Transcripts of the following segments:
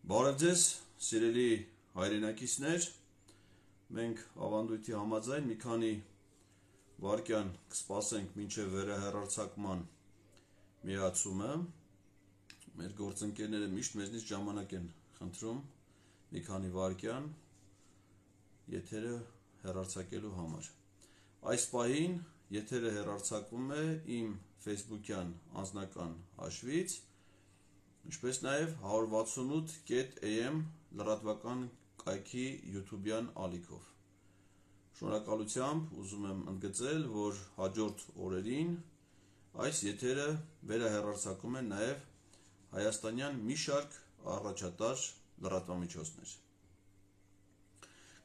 Բարև ձեզ, սիրելի հայրենակիցներ, մենք ավանդույթի համաձայն մի քանի վայրկյան կսպասենք մինչև վերահեռարձակման միացումը։ Մեր գործընկերները միշտ մեզնից ժամանակ են խնդրում մի քանի վայրկյան եթերը հեռարձակելու համար։ Այս պահին եթերը հեռարձակվում է իմ Facebook-յան անձնական հաշվից, ինչպես նաև 168.am լրատվական կայքի YouTube-յան ալիքով։ Շնորհակալությամբ ուզում եմ ընդգծել, որ հաջորդ օրերին այս եթերը վերահեռարձակում են նաև հայաստանյան մի շարք առաջատար լրատվամիջոցներ։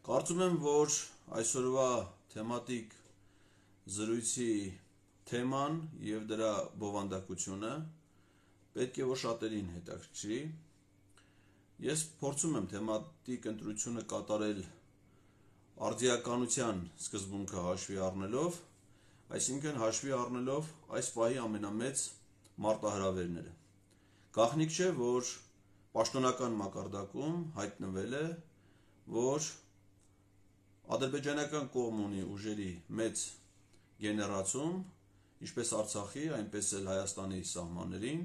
Կարծում եմ, որ այսօրվա թեմատիկ զրույցի թեման և դրա բովանդակությունը պետք է որ շատերին հետաքրքրի։ Ես փորձում եմ թեմատիկ ընտրությունը կատարել արդիականության սկզբունքը հաշվի առնելով, այսինքն հաշվի առնելով այս պահի ամենամեծ մարտահրավերները։ Գաղտնիք չէ, որ պաշտոնական մակարդակում հայտնվել է, որ ադրբեջանական կողմն ունի ուժերի մեծ գեներացում, ինչպես Արցախի, այնպես էլ Հայաստանի սահմաններին,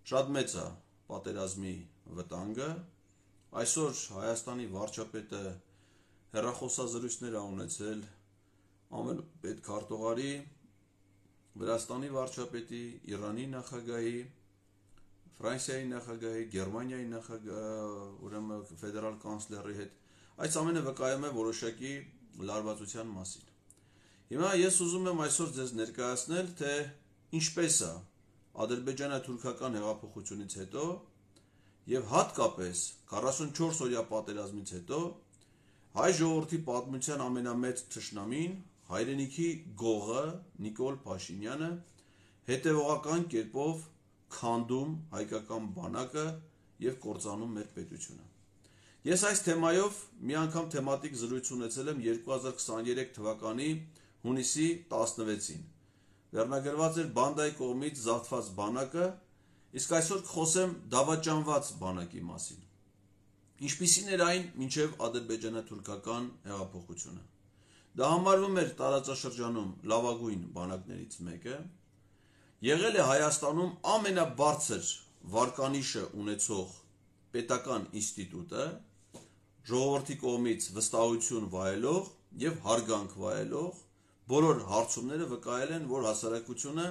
շատ մեծ է պատերազմի վտանգը։ Այսօր Հայաստանի վարչապետը հեռախոսազրույցներ է ունեցել ամենապետ քարտուղարի, Վրաստանի վարչապետի, Իրանի նախագահի, Ֆրանսիայի նախագահի, Գերմանիայի նախագահի, ֆեդերալ կանցլերի հետ։ Այս ամենը վկայում է որոշակի լարվածության մասին։ Հիմա ես ուզում եմ այսօր ձեզ ներկայացնել, թե ինչպես է ադրբեջանա-թուրքական հեղափոխությունից հետո և հատկապես 44-օրյա պատերազմից հետո հայ ժողովրդի պատմության ամենամեծ թշնամին, հայրենիքի գողը Նիկոլ Փաշինյանը հետևողական կերպով քանդում հայկական բանակը և կործանում մեր պետությունը։ Ես այս թեմայով մի անգամ թեմատիկ զրույց ունեցել եմ 2023 թվականի հունիսի 16-ին։ Վերնագրված էր բանդայի կողմից զավթված բանակը, իսկ այսօր կխոսեմ դավաճանված բանակի մասին։ Ինչպիսին էր այն մինչև ադրբեջանա-թուրքական հեղափոխությունը։ Դա համարվում էր տարածաշրջանում լավագույն բանակներից մեկը, եղել է Հայաստանում ամենաբարձր վարկանիշը ունեցող պետական ինստիտուտը, ժողովրդի կողմից վստահություն վայելող և հարգանք վայելող, բոլոր հարցումները վկայել են, որ հասարակությունը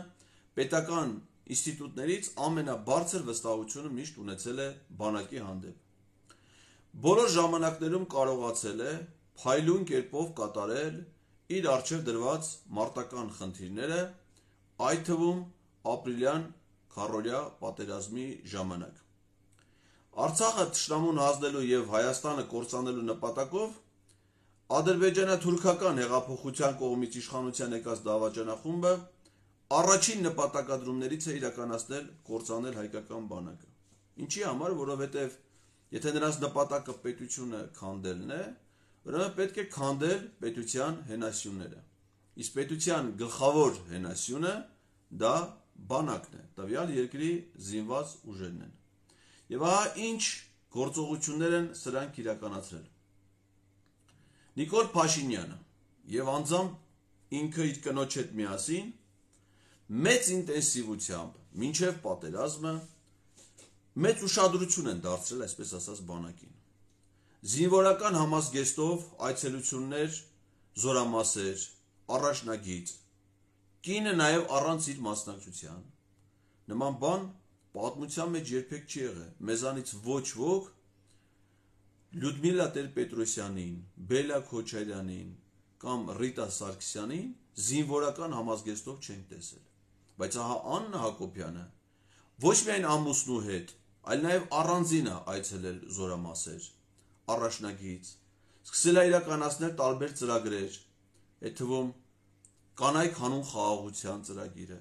պետական ինստիտուտներից ամենաբարձր վստահությունը միշտ ունեցել է բանակի հանդեպ։ Բոլոր ժամանակներում կարողացել է փայլուն կերպով կատարել իր առջև դրված մարտական խնդիրները, այդ թվում ապրիլյան քառօրյա պատերազմի ժամանակ։ Արցախը թշնամուն հանձնելու և Հայաստանը կործանելու նպատակով ադրբեջանա-թուրքական հեղափոխության կողմից իշխանության եկած դավաճանախումբը առաջին նպատակադրումներից է իրականացնել կործանել հայկական բանակը։ Ինչի համար, որովհետև եթե նրանց նպատակը պետությունը քանդելն է, ուրեմն պետք է քանդել պետության հենասյուները։ Իսկ պետության գլխավոր հենասյունը դա բանակն է, տվյալ երկրի զինված ուժերն են։ Եվ ահա ինչ գործողություններ են սրանք իրականացրել։ Նիկոլ Փաշինյանը և անձամբ ինքը իր կնոջ հետ միասին մեծ ինտենսիվությամբ մինչև պատերազմը մեծ ուշադրություն են դարձրել, այսպես ասած, բանակին։ Զինվորական համազգեստով այցելություններ, զորամասեր, առաջնագիծ, կինը նաև առանց իր մասնակցության։ Նման բան պատմության մեջ երբեք չի եղել։ Մեզանից ոչ ոք Լյուդմիլա Տեր-Պետրոսյանին, Բելա Քոչարյանին կամ Ռիտա Սարգսյանին զինվորական համազգեստով չենք տեսել։ Բայց ահա Աննա Հակոբյանը ոչ միայն ամուսնու հետ, այլ նաև առանձին է այցելել զորամասեր, առաջնագիծ, սկսել է իրականացնել տարբեր ծրագրեր, այդ թվում կանայք հանուն խաղաղության ծրագիրը,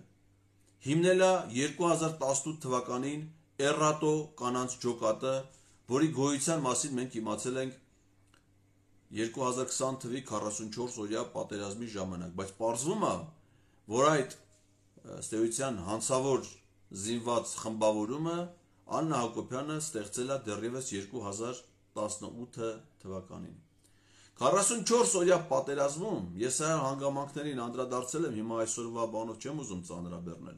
հիմնել է 2018 թվականին Էռատո կանանց ջոկատը, որի գոյության մասին մենք իմացել ենք 2020 թվականի 44-օրյա պատերազմի ժամանակ, բայց պարզվում է, որ այդ ըստ էության հանցավոր զինված խմբավորումը Աննա Հակոբյանը ստեղծել է դեռևս 2018 թվականին։ 44 օրյա պատերազմում ես այլ հանգամանքներին անդրադարձել եմ, հիմա այսօրվա բանով չեմ ուզում ծանրաբեռնել,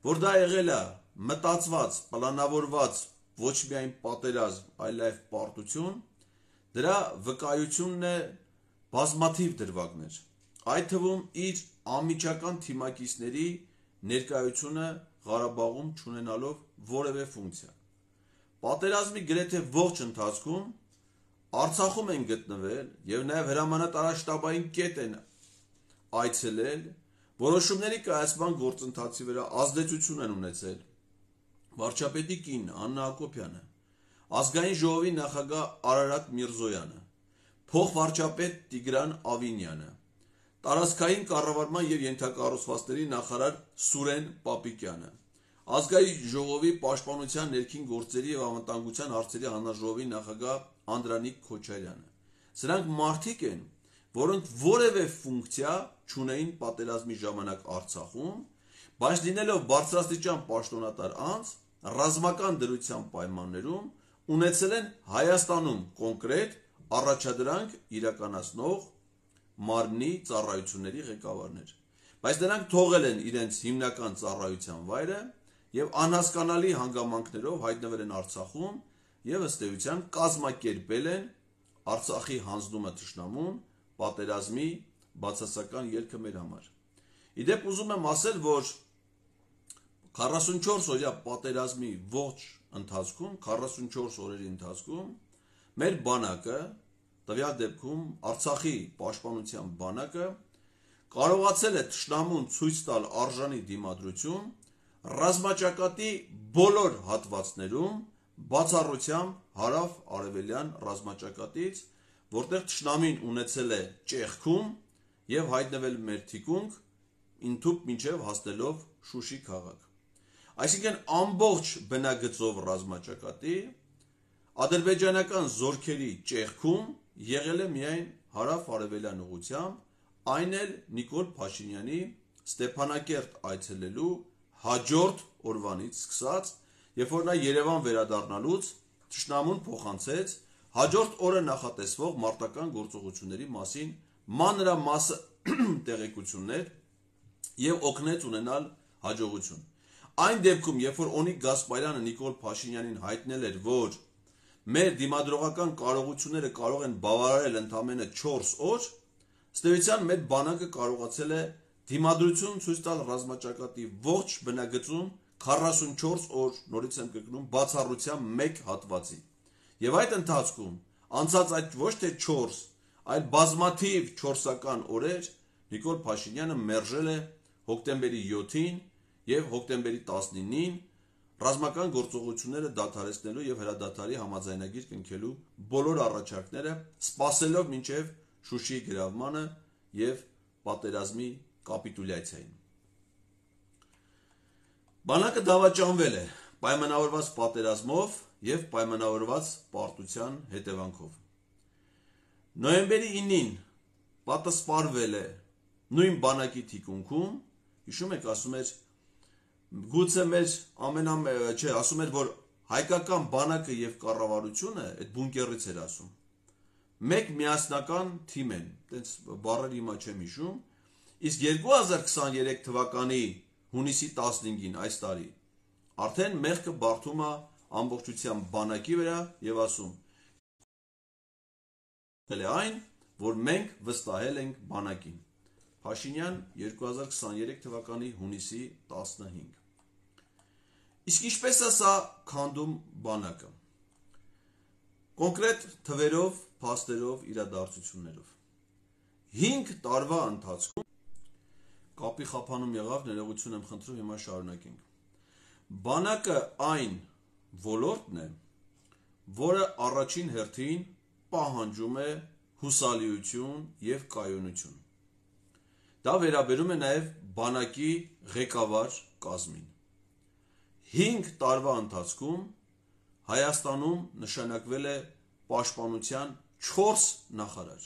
որ դա եղել է մտածված, պլանավորված ոչ միայն պատերազմ, այլև պարտություն, դրա վկայությունն է բազմաթիվ դրվագներ, այդ թվում իր անմիջական թիմակիցների ներկայությունը Ղարաբաղում չունենալով որևէ ֆունկցիա։ Պատերազմի գրեթե ողջ ընթացքում Արցախում են գտնվել եւ նաեւ հրամանատարաշտաբային կետ են այցելել, որոշումների կայացման գործընթացի վրա ազդեցություն են ունեցել վարչապետի կին Աննա Հակոբյանը, ազգային ժողովի նախագահ Արարատ Միրզոյանը, փոխվարչապետ Տիգրան Ավինյանը, տարածքային կառավարման եւ ենթակառուցվածքների նախարար Սուրեն Պապիկյանը, ազգային ժողովի պաշտպանության ներքին գործերի եւ անվտանգության հարցերի հանձնաժողովի նախագահ Անդրանիկ Քոչարյանը։ Սրանք մարդիկ են, որոնք որևէ ֆունկցիա չունեին պատերազմի ժամանակ Արցախում, բայց լինելով բարձրաստիճան պաշտոնատար անձ, ռազմական դրության պայմաններում ունեցել են Հայաստանում կոնկրետ առաջադրանք իրականացնող մարմնի ծառայությունների ղեկավարներ, բայց նրանք թողել են իրենց հիմնական ծառայության վայրը եւ անհասկանալի հանգամանքներով հայտնվել են Արցախում եւ ըստ էության կազմակերպել են Արցախի հանձնումը թշնամուն պատերազմի բացասական ելքը մեր համար։ Իդեպ ուզում եմ ասել, որ 44 օրյա պատերազմի ողջ ընթացքում, 44 օրերի ընթացքում մեր բանակը, տվյալ դեպքում Արցախի պաշտպանության բանակը կարողացել է թշնամուն ցույց տալ արժանի դիմադրություն ռազմաճակատի բոլոր հատվածներում բացառությամբ հարավ-արևելյան ռազմաճակատից, որտեղ թշնամին ունեցել է ճեղքում եւ հայտնվել մեր թիկունք, ինթուփ մինչեւ հասնելով Շուշի քաղաք։ Այսինքն ամբողջ բնագծով ռազմաճակատի ադրբեջանական զորքերի ճեղքում եղել է միայն հարավ-արևելյան ուղղությամբ, այն էլ Նիկոլ Փաշինյանի Ստեփանակերտ այցելելու հաջորդ օրվանից սկսած, երբ որ նա Երևան վերադառնալուց թշնամուն փոխանցեց հաջորդ օրը նախատեսվող մարտական գործողությունների մասին մանրամասը տեղեկություններ եւ օգնեց ունենալ հաջողություն։ Այն դեպքում, երբ որ Օնիկ Գասպարյանը Նիկոլ Փաշինյանին հայտնել էր, որ մեր դիմադրողական կարողությունները կարող են բավարարել ընդամենը 4 օր, ըստ էության մեր բանակը կարողացել է դիմադրություն ցույց տալ ռազմաճակատի ողջ բնագծում 44 օր, նորից եմ կրկնում, բացառությամբ մեկ հատվածի։ Եվ այդ ընթացքում անցած այդ ոչ թե 4, այլ բազմաթիվ 4-ական օրեր Նիկոլ Փաշինյանը մերժել է հոկտեմբերի 7-ին եւ հոկտեմբերի 19-ին ռազմական գործողությունները դադարեցնելու եւ հրադադարի համաձայնագիր կնքելու բոլոր առաջարկները, սպասելով մինչեւ Շուշիի գրավմանը եւ պատերազմի կապիտուլյացիային։ Բանակը դավաճանվել է պայմանավորված պատերազմով եւ պայմանավորված պարտության հետևանքով։ Նոյեմբերի 9-ին պատասպարվել է նույն բանակի թիկունքում, հիշում եք, ասում էր, գուցե մեր ասում էր, որ հայկական բանակը եւ կառավարությունը այդ բունկերից էր ասում։ Մեկ միասնական թիմ են, այդպես բառեր հիմա չեմ հիշում, իսկ 2023 թվականի հունիսի 15-ին այս տարի արդեն մեղքը բարդում է ամբողջությամբ բանակի վրա եւ ասում այն, որ մենք վստահել ենք բանակին։ Փաշինյան 2023 թվականի հունիսի 15։ Իսկ ինչպես է սա քանդում բանակը։ Կոնկրետ թվերով, փաստերով, իրադարձություններով։ 5 տարվա ընթացքում կապի խափանում եղավ, ներողություն եմ խնդրում, հիմա շարունակենք։ Բանակը այն ոլորտն է, որը առաջին հերթին պահանջում է հուսալիություն եւ կայունություն։ Դա վերաբերում է նաեւ բանակի ղեկավար կազմին։ 5 տարվա ընթացքում Հայաստանում նշանակվել է պաշտպանության 4 նախարար։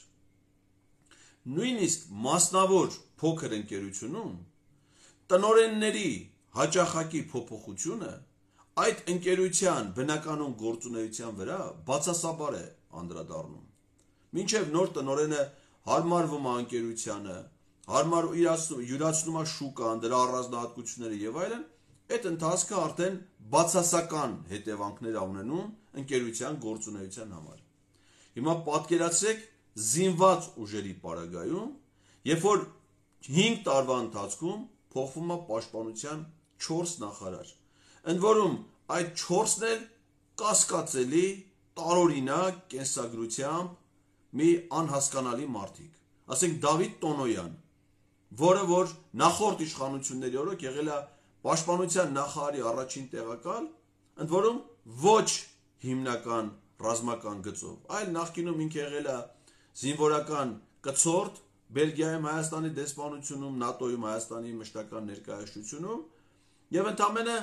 Նույնիսկ մասնավոր փոքր ընկերությունում տնօրենների հաճախակի փոփոխությունը այդ ընկերության բնականon գործունեության վրա բացասաբար է անդրադառնում։ Մինչև նոր տնօրենը հարմարվում է ընկերությանը, յուրացնում է շուկան, դրա առանձնահատկությունները եւ այլն, այդ ընթացքը արդեն բացասական հետևանքներ ունենում ընկերության գործունեության համար։ Հիմա պատկերացրեք զինված ուժերի պարագայում, երբ որ 5 տարվա ընթացքում փոխվում է պաշտպանության 4 նախարար, ընդ որում այդ 4-ն էլ կասկածելի, տարօրինակ կենսագրությամբ մի անհասկանալի մարդիկ, ասենք Դավիթ Տոնոյան, որը որ նախորդ իշխանությունների օրոք եղել է պաշտպանության նախարարի առաջին տեղակալ, ընդ որում ոչ հիմնական ռազմական գծով, այլ նախկինում ինքը եղել է զինվորական կցորդ Բելգիայում Հայաստանի դեսպանությունում, ՆԱՏՕ-ում Հայաստանի մշտական ներկայացությունում եւ ընդամենը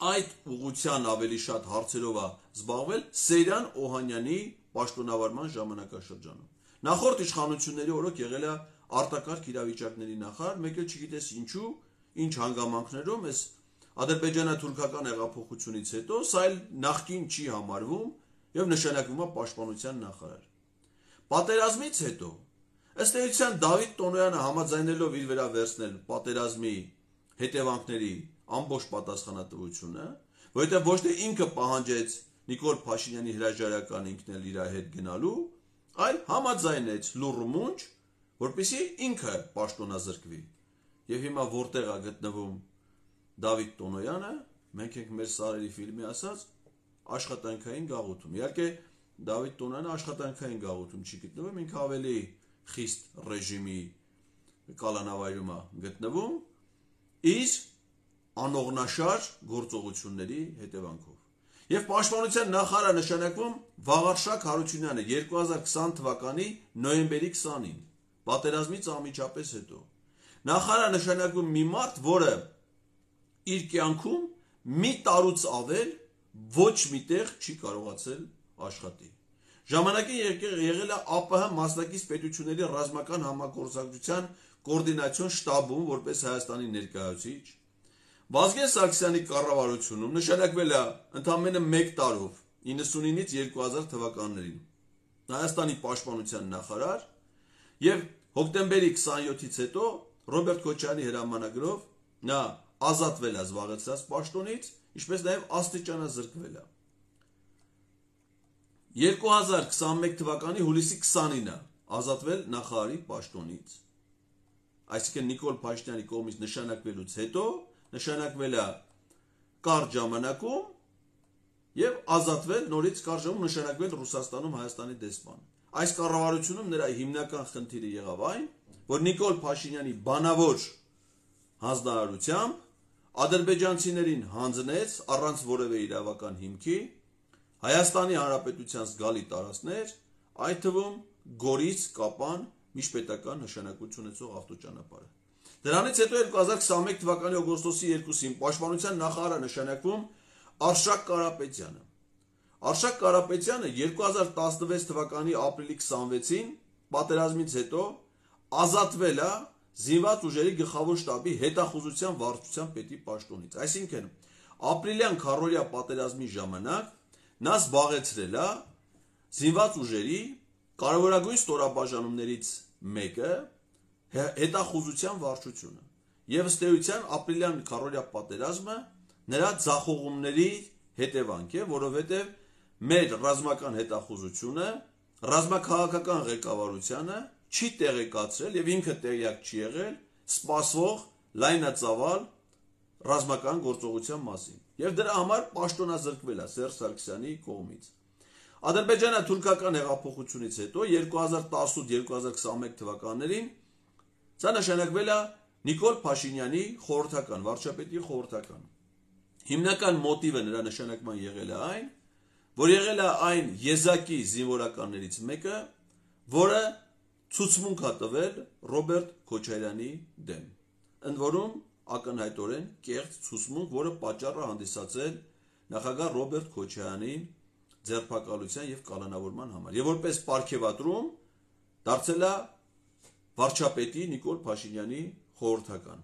այդ ուղղության ավելի շատ հարցերով է զբաղվել Սեյրան Օհանյանի պաշտոնավարման ժամանակաշրջանում։ Նախորդ իշխանությունների օրոք եղել է արտակարգ իրավիճակների նախարար, մեկ էլ չգիտես ինչու, ինչ հանգամանքներով էս ադրբեջանա-թուրքական հեղափոխությունից հետո սա էլ նախկին չի համարվում եւ նշանակվում է պաշտպանության նախարար։ Պատերազմից հետո ըստ էության Դավիթ Տոնոյանը համաձայնելով իր վրա վերցնել պատերազմի հետևանքների ամբողջ պատասխանատվությունը, որովհետև ոչ թե ինքը պահանջեց Նիկոլ Փաշինյանի հրաժարական ինքն էլ իր հետ գնալու, այլ համաձայնեց լուռմունջ, որպեսզի ինքը պաշտոնազրկվի։ Եվ հիմա որտեղ է գտնվում Դավիթ Տոնոյանը, մենք ենք մեր սարերի ֆիլմի ասած աշխատանքային գաղութում։ Իհարկե Դավիթ Տոնոյանը աշխատանքային գաղութում չի գտնվում, ինքը ավելի խիստ ռեժիմի կալանավայրում է գտնվում իր անողնաշար գործողությունների հետևանքով։ Եվ պաշտպանության նախարար նշանակվում Վաղարշակ Հարությունյանը 2020 թվականի նոյեմբերի 20-ին, պատերազմից անմիջապես հետո։ Նախարար նշանակվում մի մարդ, որը իր կյանքում մի տարուց ավել ոչ միտեղ չի կարողացել աշխատի։ Ժամանակին եղել է ԱՊՀ մասնակից պետությունների ռազմական համագործակցության կոորդինացիոն շտաբում որպես Հայաստանի ներկայացուցիչ, Վազգեն Սարգսյանի կառավարությունում նշանակվել է ընդամենը 1 տարով 99-ից 2000 թվականներին Հայաստանի պաշտպանության նախարար եւ հոկտեմբերի 27-ից հետո Ռոբերտ Քոչարյանի հրամանագրով նա ազատվել է զբաղեցրած պաշտոնից, ինչպես նաեւ աստիճանազրկվել է։ 2021 թվականի հուլիսի 29-ը ազատվել նախարարի պաշտոնից։ Այսինքն Նիկոլ Փաշինյանի կողմից նշանակվելուց հետո նշանակվել է կարճ ժամանակում եւ ազատվել նորից կարճ ժամանակում նշանակվել Ռուսաստանում Հայաստանի դեսպան։ Այս կառավարությունում նրա հիմնական խնդիրը եղավ այն, որ Նիկոլ Փաշինյանի բանավոր հանձնարարությամբ ադրբեջանցիներին հանձնեց առանց որևէ իրավական հիմքի Հայաստանի Հանրապետության զգալի տարածքներ, այդ թվում Գորից Կապան միջպետական նշանակություն ունեցող ավտոճանապարհը։ Դրանից հետո 2021 թվականի օգոստոսի 2-ին պաշտպանության նախարարը նշանակվում Արշակ Կարապետյանը։ Արշակ Կարապետյանը 2016 թվականի ապրիլի 26-ին պատերազմից հետո ազատվել է զինված ուժերի գլխավոր շտաբի հետախուզության վարչության պետի պաշտոնից։ Այսինքն ապրիլյան քառօրյա պատերազմի ժամանակ նա զբաղեցրել է զինված ուժերի կարևորագույն ստորաբաժանումներից մեկը հետախուզության վարչությունը։ Եվ ըստ էության ապրիլյան քառօրյա պատերազմը նրա ձախողումների հետևանք է, որովհետև մեր ռազմական հետախուզությունը ռազմաքաղաքական ղեկավարությանը չի տեղեկացրել եւ ինքը տեղյակ չի եղել սպասվող լայնածավալ ռազմական գործողության մասին։ Եվ դրա համար պաշտոնազրկվել է Սերժ Սարգսյանի կողմից։ Ադրբեջանա-թուրքական հեղափոխությունից հետո 2018-2021 թվականներին սա նշանակվել է Նիկոլ Փաշինյանի խորհրդական, վարչապետի խորհրդական։ Հիմնական մոտիվը նրա նշանակման եղել է այն, որ եղել է այն եզակի զինվորականներից մեկը, որը ցուցմունք է տվել Ռոբերտ Քոչարյանի դեմ։ Ընդ որում ակնհայտորեն կեղծ ցուցմունք, որը պատճառ է հանդիսացել նախագահ Ռոբերտ Քոչարյանին ձերբակալության եւ կալանավորման համար։ Եվ որպես պարգևատրում դարձել է վարչապետի Նիկոլ Փաշինյանի խորհրդական։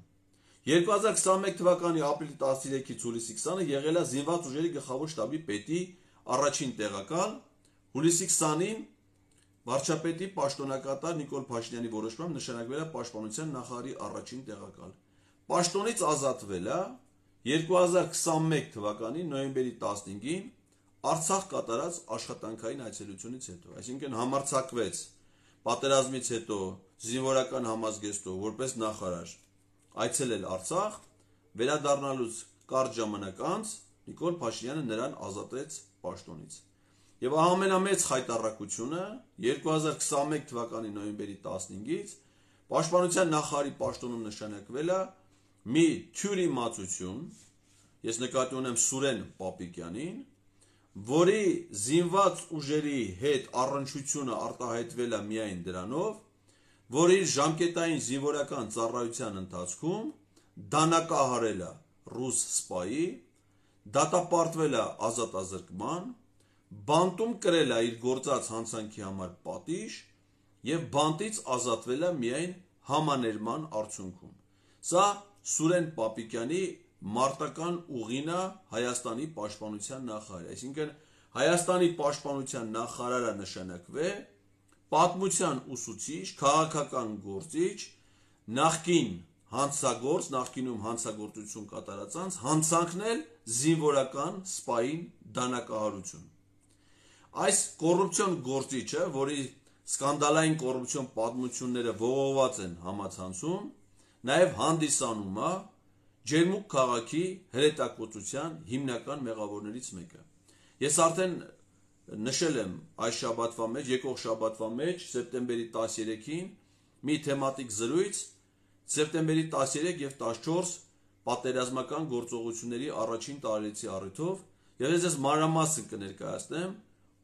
2021 թվականի ապրիլի 13-ից հուլիսի 20-ը եղել է զինված ուժերի գլխավոր շտաբի պետի առաջին տեղակալ, հուլիսի 20-ին վարչապետի պաշտոնակատար Նիկոլ Փաշինյանի որոշմամբ նշանակվել է պաշտպանության նախարարի առաջին տեղակալ։ Պաշտոնից ազատվել է 2021 թվականի նոյեմբերի 15-ին Արցախ կատարած աշխատանքային այցելությունից հետո, այսինքն համարձակվեց պատերազմից հետո զինվորական համազգեստով որպես նախարար այցելել Արցախ, վերադառնալուց կարճ ժամանակ անց Նիկոլ Փաշինյանը նրան ազատեց պաշտոնից։ Եվ ամենամեծ խայտառակությունը 2021 թվականի նոյեմբերի 15-ից պաշտպանության նախարարի պաշտոնում նշանակվել է մի թյուրիմացություն, ես նկատի ունեմ Սուրեն Պապիկյանին, որի զինված ուժերի հետ առնչությունը արտահայտվել է միայն դրանով, որ իր ժամկետային զինվորական ծառայության ընթացքում դանակահարել է ռուս սպայի, դատապարտվել է ազատազրկման, բանտում կրել է իր գործած հանցանքի համար պատիժ եւ բանտից ազատվել է միայն համաներման արդյունքում։ Սա Սուրեն Պապիկյանի մարտական ուղին է Հայաստանի պաշտպանության նախարարի, այսինքն Հայաստանի պաշտպանության նախարարը նշանակվե պատմության ուսուցիչ, քաղաքական գործիչ, նախկին հանցագործ, նախկինում հանցագործություն կատարած անց հանցանքնել զինվորական սպային դանակահարություն։ Այս կոռուպցիոն գործիչը, որի սկանդալային կոռուպցիոն պատմությունները ողողված են համացանցում, նաև հանդիսանում է Ջերմուկ քաղաքի հրետակոծության հիմնական մեղավորներից մեկը։ Ես արդեն նշել եմ այս շաբաթվա մեջ, եկող շաբաթվա մեջ, սեպտեմբերի 13-ին մի թեմատիկ զրույց սեպտեմբերի 13 եւ 14 պատերազմական գործողությունների առաջին տարելիցի առիթով, եւ ես մանրամասն կներկայացնեմ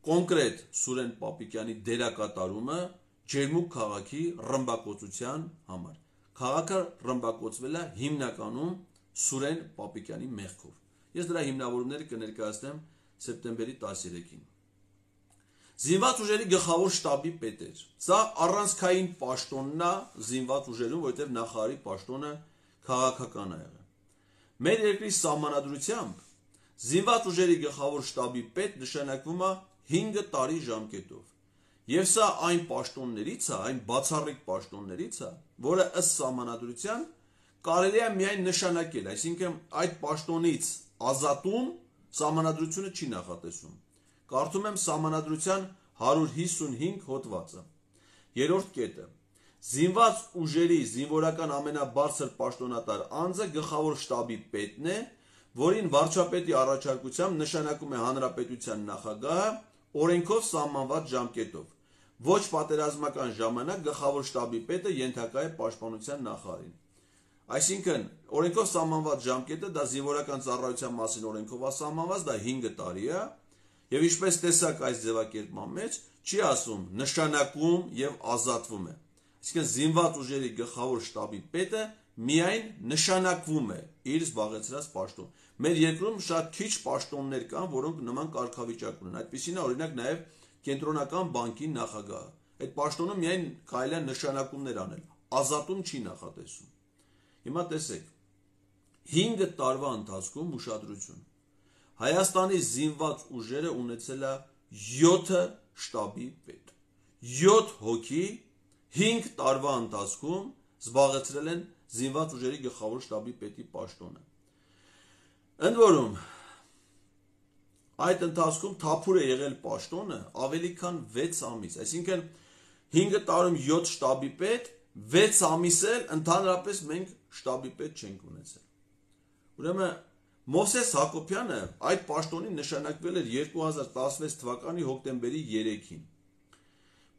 կոնկրետ Սուրեն Պապիկյանի դերակատարումը Ջերմուկ քաղաքի ռմբակոծության համար։ Քաղաքը ռմբակոծվել է հիմնականում Սուրեն Պապիկյանի մեղքով։ Ես դրա հիմնավորումները կներկայացնեմ սեպտեմբերի 13-ին։ Զինված ուժերի գլխավոր շտաբի պետ էր։ Սա առանցքային պաշտոնն է զինված ուժերում, որովհետև նախարարի պաշտոնը քաղաքական է եղել։ Մեր երկրի սահմանադրությամբ զինված ուժերի գլխավոր շտաբի պետ նշանակվում է 5 տարի ժամկետով։ Եվ սա այն պաշտոններից է, այն բացառիկ պաշտոններից է, որը ըստ սահմանադրության կարելի է միայն նշանակել, այսինքն այդ պաշտոնից ազատում սահմանադրությունը չի նախատեսում։ Կարդում եմ սահմանադրության 155 հոդվածը։ Երրորդ կետը. զինված ուժերի զինվորական ամենաբարձր պաշտոնատար անձը գլխավոր շտաբի պետն է, որին վարչապետի առաջարկությամբ նշանակում է հանրապետության նախագահը օրենքով սահմանված ժամկետով։ Ոչ պատերազմական ժամանակ գլխավոր շտաբի պետը ենթակա է պաշտպանության նախարարին։ Այսինքն օրենքով սահմանված ժամկետը դա զինվորական ծառայության մասին օրենքով է սահմանված, դա 5 տարի է, եւ ինչպես տեսակ այս ձևակերպման մեջ չի ասում նշանակում եւ ազատվում է։ Այսինքն զինված ուժերի գլխավոր շտաբի պետը միայն նշանակվում է իր զբաղեցրած պաշտոն։ Մեր երկրում շատ քիչ պաշտոններ կան, որոնք նման կարգավիճակ ունեն։ Այդպիսին է օրինակ նաեւ Կենտրոնական բանկի նախագահը։ Այդ պաշտոնում միայն կարելի է նշանակումներ անել, ազատում չի նախատեսում։ Հիմա տեսեք, 5 տարվա ընթացքում ուշադրություն։ Հայաստանի զինված ուժերը ունեցել է 7 շտաբի պետ։ 7 հոգի 5 տարվա ընթացքում զբաղեցրել են զինված ուժերի գլխավոր շտաբի պետի պաշտոնը։ Ընդ որում, այդ ընթացքում թափուր է եղել պաշտոնը ավելի քան 6 ամիս, այսինքն 5 տարում 7 շտաբի պետ, 6 ամիս էլ ընդհանրապես մենք շտաբի պետ չենք ունեցել։ Ուրեմն Մովսես Հակոբյանը այդ պաշտոնին նշանակվել էր 2016 թվականի հոկտեմբերի 3-ին։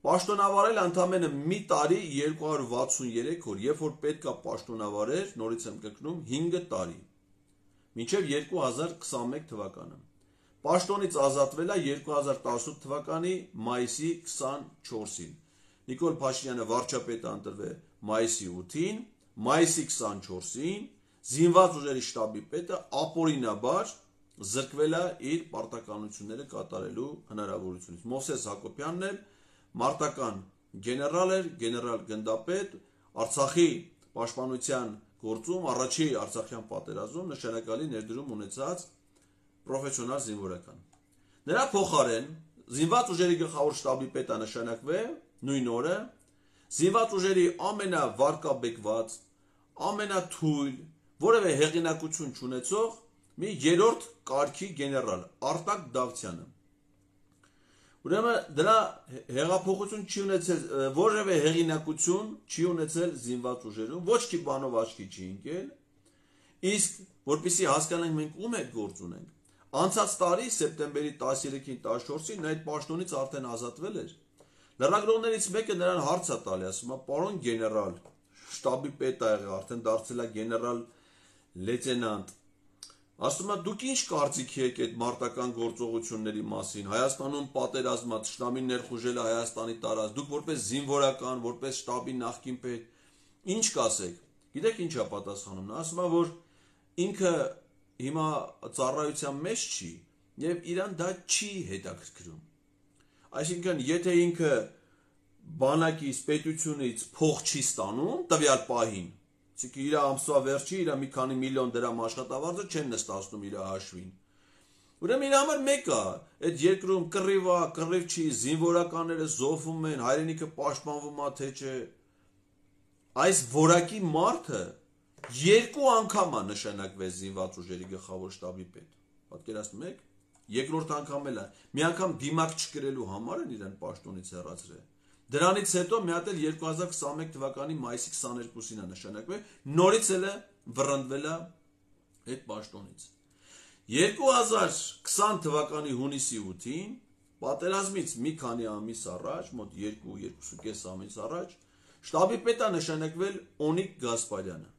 Պաշտոնավարել ընդամենը մի տարի 263 օր, երբ որ պետք է պաշտոնավարեր, նորից եմ կրկնում, 5 տարի, մինչև 2021 թվականը։ Պաշտոնից ազատվել է 2018 թվականի մայիսի 24-ին։ Նիկոլ Փաշինյանը վարչապետ ընտրվել մայիսի 8-ին, մայիսի 24-ին զինված ուժերի շտաբի պետը ապօրինաբար զրկվել է իր պարտականությունները կատարելու հնարավորությունից։ Մովսես Հակոբյանն էլ մարտական գեներալ էր, գեներալ գնդապետ, Արցախի պաշտպանության գործում առաջի Արցախյան պատերազմում նշանակալի ներդրում ունեցած պրոֆեսիոնալ զինվորական։ Նրա փոխարեն զինված ուժերի գլխավոր շտաբի պետը նշանակվե նույն օրը զինված ուժերի ամենավարկաբեկված, ամենաթույլ, որևէ հեղինակություն չունեցող մի երրորդ կարգի գեներալ Արտակ Դավթյանը։ Ուրեմն դրա հեղափոխություն չի ունեցել, որևէ հեղինակություն չի ունեցել զինված ուժերում, ոչ մի բանով աչքի չի ընկել, իսկ որպեսզի հասկանանք մենք ում հետ գործ ունենք, անցած տարի սեպտեմբերի 13-ին 14-ին նա այդ պաշտոնից արդեն ազատվել էր։ Լրագրողներից մեկը նրան հարց է տալի, ասում է, պարոն գեներալ, շտաբի պետ ա եղել, արդեն դարձել է գեներալ լեյտենանտ։ Ասում է, դուք ինչ կարծիքի եք այդ մարտական գործողությունների մասին, Հայաստանում պատերազմա, թշնամին ներխուժել է Հայաստանի տարածք, դուք որպես զինվորական, որպես շտաբի նախկին պետ, ինչ կասեք։ Գիտեք ինչ է պատասխանում, նա ասում է, որ ինքը հիմա ծառայության մեջ չի եւ իրան դա չի հետաքրքրում։ Այսինքն, եթե ինքը բանակից, պետությունից փող չի ստանում տվյալ պահին, այսինքն իր ամսվա վերջի իր մի քանի միլիոն դրամ աշխատավարձը չեն նստացնում իր հաշվին։ Ուրեմն իր համար մեկ է, այդ երկրում կռիվ է, կռիվ չի, զինվորականները զոհվում են, հայրենիքը պաշտպանվում է, թե չէ։ Այս որակի մարդը երկու անգամ է նշանակվել զինված ուժերի գլխավոր շտաբի պետ։ Պատկերացնում եք, երկրորդ անգամ էլ է, մի անգամ դիմակ չկրելու համար են իրեն պաշտոնից հեռացրել։ Դրանից հետո մի հատ էլ 2021 թվականի մայիսի 22-ին է նշանակվել, նորից էլ է վռնդվել է այդ պաշտոնից։ 2020 թվականի հունիսի 8-ին պատերազմից մի քանի ամիս առաջ, մոտ 2-2.5 ամիս առաջ, շտաբի պետ է նշանակվել Օնիկ Գասպարյանը։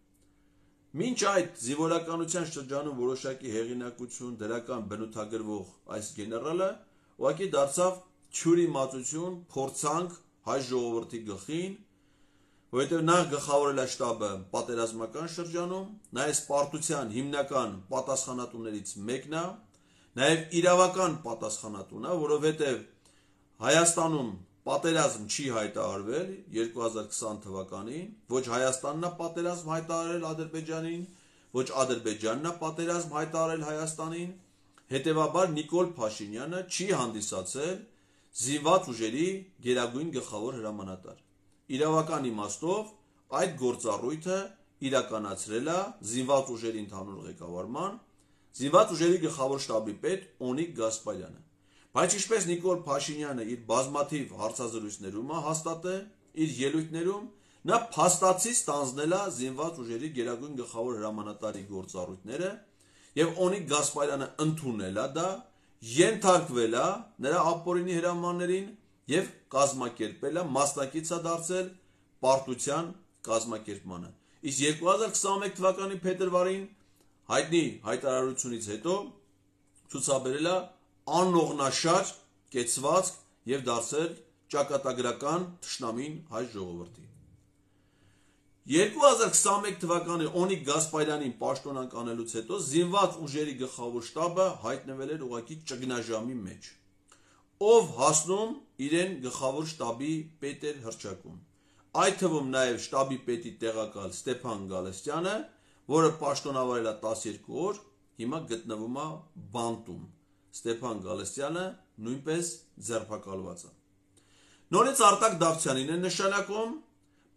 Մինչ այդ զինվորականության շրջանում որոշակի հեղինակություն, դրական բնութագրվող այս գեներալը ուղղակի դարձավ թյուրի մածություն, փորձանք հայ ժողովրդի գլխին, որովհետև նա գլխավորել է շտաբը պատերազմական շրջանում, նաև պարտության հիմնական պատասխանատուներից մեկն է, նաև իրավական պատասխանատուն է, որովհետև Հայաստանում պատերազմ չի հայտարարվել 2020 թվականին, ոչ Հայաստանն է պատերազմ հայտարարել Ադրբեջանին, ոչ Ադրբեջանն է պատերազմ հայտարարել Հայաստանին, հետևաբար Նիկոլ Փաշինյանը չի հանդիսացել զինված ուժերի գերագույն գլխավոր հրամանատար։ Իրավական իմաստով այդ գործառույթը իրականացրել է զինված ուժերի ընդհանուր ղեկավարման, զինված ուժերի գլխավոր շտաբի պետ Օնիկ Գասպարյանը։ Բայց ինչպես Նիկոլ Փաշինյանը իր բազմաթիվ հարցազրույցներում է հաստատել, իր ելույթներում, նա փաստացի ստանձնել է զինված ուժերի գերագույն գլխավոր հրամանատարի գործառույթները եւ Օնիկ Գասպարյանը ընդունել է դա, ենթարկվել է նրա ապօրինի հրամաններին եւ կազմակերպել է, մասնակից է դարձել պարտության կազմակերպմանը։ Իսկ 2021 թվականի փետրվարին հայտնի հայտարարությունից հետո ցուցաբերել է անողնաշար կեցվածք եւ դարձել ճակատագրական թշնամին հայ ժողովրդի։ 2021 թվականի Օնիկ Գասպարյանին պաշտոնանկանելուց հետո զինված ուժերի գլխավոր շտաբը հայտնվել էր ուղղակի ճգնաժամի մեջ, ով հասնում իրեն գլխավոր շտաբի պետ էր հռչակում, այդ թվում նաև շտաբի պետի տեղակալ Ստեփան Գալստյանը, որը պաշտոնավարել է 12 օր, հիմա գտնվում է բանտում։ Ստեփան Գալստյանը նույնպես ձերբակալված է։ Նորից Արտակ Դավթյանին է նշանակում,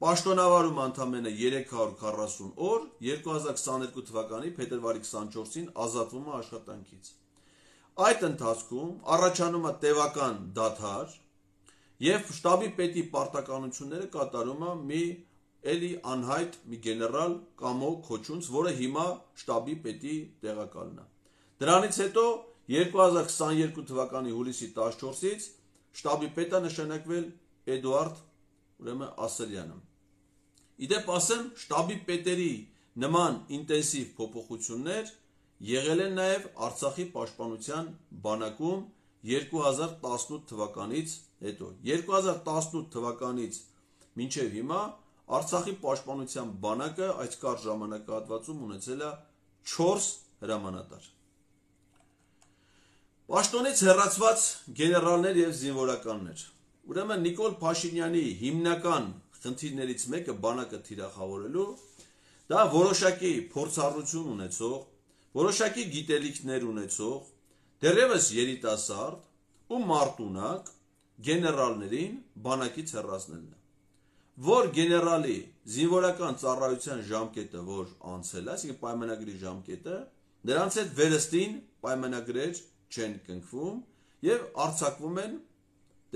պաշտոնավարում ընդամենը 340 օր, 2022 թվականի փետրվարի 24-ին ազատվում է աշխատանքից։ Այդ ընթացքում առաջանում է տևական դադար եւ շտաբի պետի պարտականությունները կատարում է մի էլի անհայտ մի գեներալ Կամո Քոչունց, որը հիմա շտաբի պետի տեղակալն է։ Դրանից հետո 2022 թվականի հուլիսի 14-ից շտաբի պետ է նշանակվել Էդուարդ Ասելյանը։ Իդեպ ասեմ, շտաբի պետերի նման ինտենսիվ փոփոխություններ եղել են նաև Արցախի պաշտպանության բանակում 2018 թվականից հետո։ 2018 թվականից մինչև հիմա Արցախի պաշտպանության բանակը այս կարճ ժամանակահատվածում ունեցել է 4 հրամանատար։ Պաշտոնից հեռացված գեներալներ եւ զինվորականներ։ Ուրեմն Նիկոլ Փաշինյանի հիմնական խնդիրներից մեկը բանակը թիրախավորելու դա որոշակի փորձառություն ունեցող, որոշակի գիտելիքներ ունեցող, դեռևս երիտասարդ ու մարտունակ գեներալներին բանակից հեռացնելն է, որ գեներալի զինվորական ծառայության ժամկետը, որ անցել է, այսինքն պայմանագրի ժամկետը, նրանց հետ վերստին պայմանագրեր չեն կնքվում եւ արձակվում են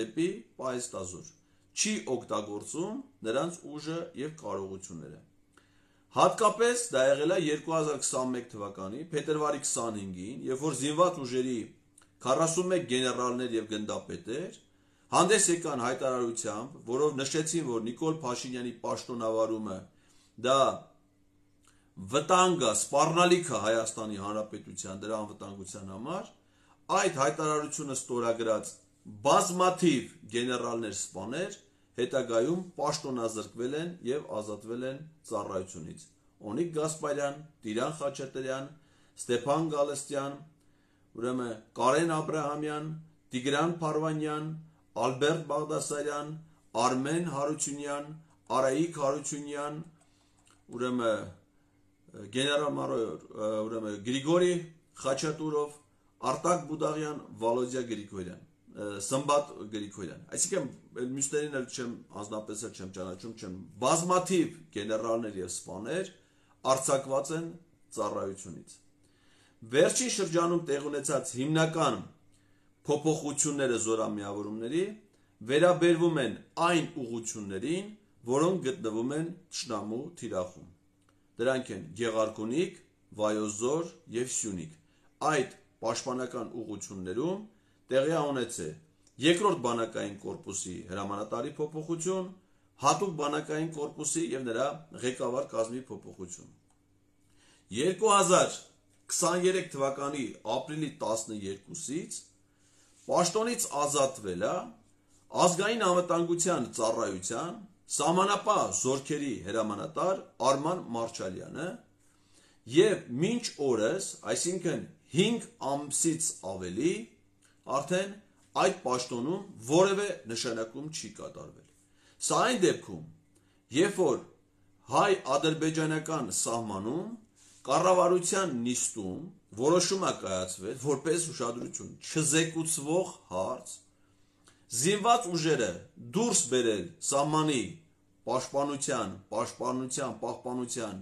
դեպի պահեստազոր, չի օգտագործում նրանց ուժը եւ կարողությունները։ Հատկապես դա եղել է 2021 թվականի փետրվարի 25-ին, երբ որ զինված ուժերի 41 գեներալներ եւ գնդապետեր հանդես եկան հայտարարությամբ, որով նշեցին, որ Նիկոլ Փաշինյանի պաշտոնավարումը դա վտանգ է, սպառնալիք է Հայաստանի Հանրապետության դրա անվտանգության համար, այդ հայտարարությունը ստորագրած բազմաթիվ գեներալներ սպաներ հետագայում պաշտոնազրկվել են եւ ազատվել են ծառայությունից։ Օնիկ Գասպարյան, Տիրան Խաչատրյան, Ստեփան Գալստյան, ուրեմն Կարեն Աբրահամյան, Տիգրան Փարվանյան, Ալբերտ Բաղդասարյան, Արմեն Հարությունյան, Արայիկ Հարությունյան, ուրեմն գեներալ-մայոր, ուրեմն Գրիգորի Խաչատուրով, Արտակ Բուդաղյան, Վալոդիա Գրիգորյան, Սմբատ Գրիգորյան։ Այսինքն մյուսներին էլ չեմ անձնապես չեմ ճանաչում, չեմ բազմաթիվ գեներալներ եւ սպաներ արձակված են ծառայությունից։ Վերջին շրջանում տեղ ունեցած հիմնական փոփոխությունները զորամիավորումների վերաբերվում են այն ուղղություններին, որոնք գտնվում են Թշնամու թիրախում։ Դրանք են Գեղարքունիք, Վայոց Ձոր եւ Սյունիք։ Այդ պաշտպանական ուղղություններում տեղի ունեցել երկրորդ բանակային կորպուսի հրամանատարի փոփոխություն, հատուկ բանակային կորպուսի եւ նրա ղեկավար կազմի փոփոխություն։ 2023 թվականի ապրիլի 12-ից պաշտոնից ազատվել է ազգային անվտանգության ծառայության սահմանապահ զորքերի հրամանատար Արման Մարչալյանը եւ մինչ օրս, այսինքն 5 ամսից ավելի, արդեն այդ պաշտոնում որևէ նշանակում չի կատարվել։ Սա այն դեպքում, երբ որ հայ-ադրբեջանական սահմանում կառավարության նիստում որոշում է կայացվել որպես ուշադրություն չզեկուցվող հարց, զինված ուժերը դուրս բերել սահմանի պահպանության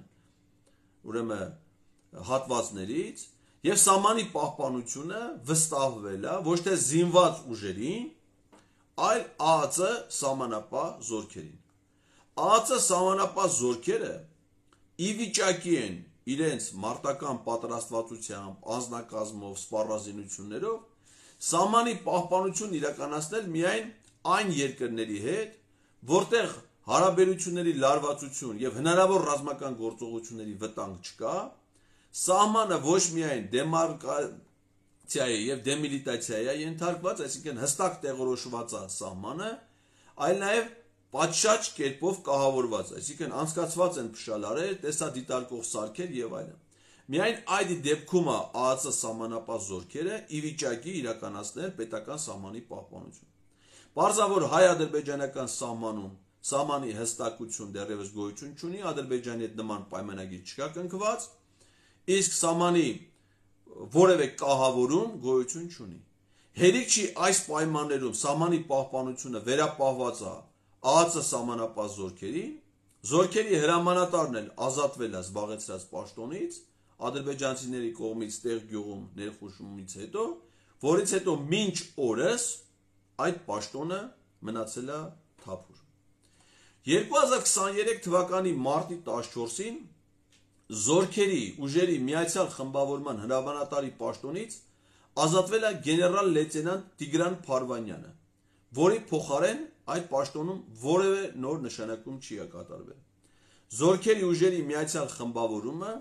ուրեմն հատվածներից եւ սահմանի պահպանությունը վստահվել է ոչ թե զինված ուժերին, այլ ԱԱԾ սահմանապահ զորքերին։ ԱԱԾ սահմանապահ զորքերը ի վիճակի են իրենց մարտական պատրաստվածությամբ, անձնակազմով, սպառազինություններով սահմանի պահպանություն իրականացնել միայն այն երկրների հետ, որտեղ հարաբերությունների լարվածություն եւ հնարավոր ռազմական գործողությունների վտանգ չկա, սահմանը ոչ միայն դեմարկացիայի եւ դեմիլիտացիայի է ենթարկված, այսինքն հստակ տեղորոշված է սահմանը, այլ նաեւ պատշաճ կերպով կահավորված, այսինքն անցկացված են փշալարեր, տեսադիտարկող սարքեր եւ այլն։ Միայն այդ դեպքում է ԱԱԾ սահմանապահ զորքերը ի վիճակի իրականացնել պետական սահմանի պահպանություն։ Պարզավոր հայ-ադրբեջանական սահմանում սահմանի հստակություն դեռևս գոյություն չունի, Ադրբեջանի հետ նման պայմանագիր չկա կնքված, իսկ սահմանի որևէ կահավորում գոյություն չունի։ Հերիք չի այս պայմաններում սահմանի պահպանությունը վերապահված է ԱԱԾ սահմանապահ զորքերին, զորքերի հրամանատարն էլ ազատվել է զբաղեցրած պաշտոնից ադրբեջանցիների կողմից տեղ գյուղում ներխուժումից հետո, որից հետո մինչ օրս այդ պաշտոնը մնացել է թափուր։ 2023 թվականի մարտի 14-ին զորքերի ուժերի միացյալ խմբավորման հրամանատարի պաշտոնից ազատվել է գեներալ լեյտենանտ Տիգրան Փարվանյանը, որի փոխարեն այդ պաշտոնում որևէ նոր նշանակում չի կատարվել։ Զորքերի ուժերի միացյալ խմբավորումը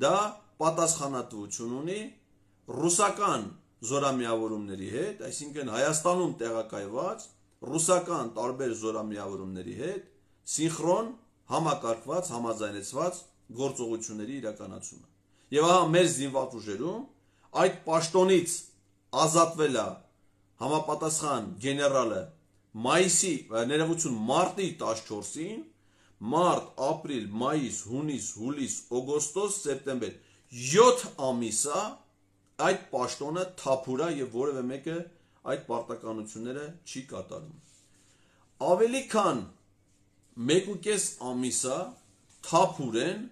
դա պատասխանատվություն ունի ռուսական զորամիավորումների հետ, այսինքն Հայաստանում տեղակայված ռուսական տարբեր զորամիավորումների հետ սինխրոն համակարգված, համաձայնեցված գործողությունների իրականացումը։ Եվ ահա մեր զինված ուժերում այդ պաշտոնից ազատվել է համապատասխան գեներալը մարտի 14-ին, մարտ, ապրիլ, մայիս, հունիս, հուլիս, օգոստոս, սեպտեմբեր 7 ամիսա այդ պաշտոնը թափուր է եւ որևէ մեկը այդ պարտականությունները չի կատարում։ Ավելի քան 1.5 ամիսա թափուրեն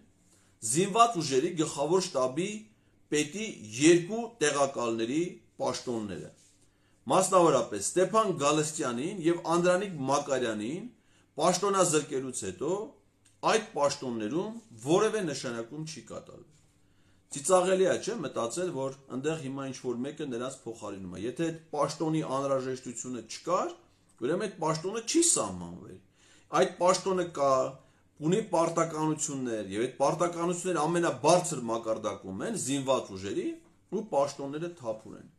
զինված ուժերի գլխավոր շտաբի պետի 2 տեղակալների պաշտոնները։ Մասնավորապես Ստեփան Գալստյանին եւ Անդրանիկ Մակարյանին պաշտոնազրկելուց հետո այդ պաշտոններում որևէ նշանակում չի կատարվում։ Ծիծաղելի է, չէ՞, մտածել, որ այնտեղ հիմա ինչ-որ մեկը նրանց փոխարինում է։ Եթե այդ պաշտոնի անհրաժեշտությունը չկար, ուրեմն այդ պաշտոնը չի սահմանվել։ Այդ պաշտոնը կա, ունի պարտականություններ, եւ այդ պարտականությունները ամենաբարձր մակարդակում են զինված ուժերի ու պաշտոնները թափուր են։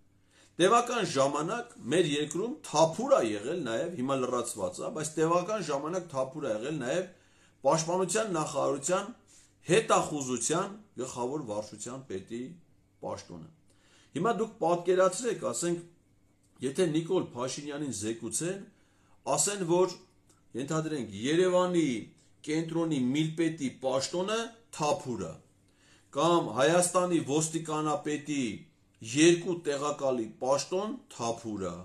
Տևական ժամանակ մեր երկրում թափուր է եղել նաեւ, հիմա լրացված է, բայց տևական ժամանակ թափուր է եղել նաեւ պաշտպանության նախարարության հետախուզության գլխավոր վարչության պետի պաշտոնը։ Հիմա դուք պատկերացրեք, ասենք, եթե Նիկոլ Փաշինյանին զեկուցեն, ասեն, որ ենթադրենք Երևանի կենտրոնի միլպետի պաշտոնը թափուր է, կամ Հայաստանի ոստիկանապետի 2 տեղակալի պաշտոն թափուր է,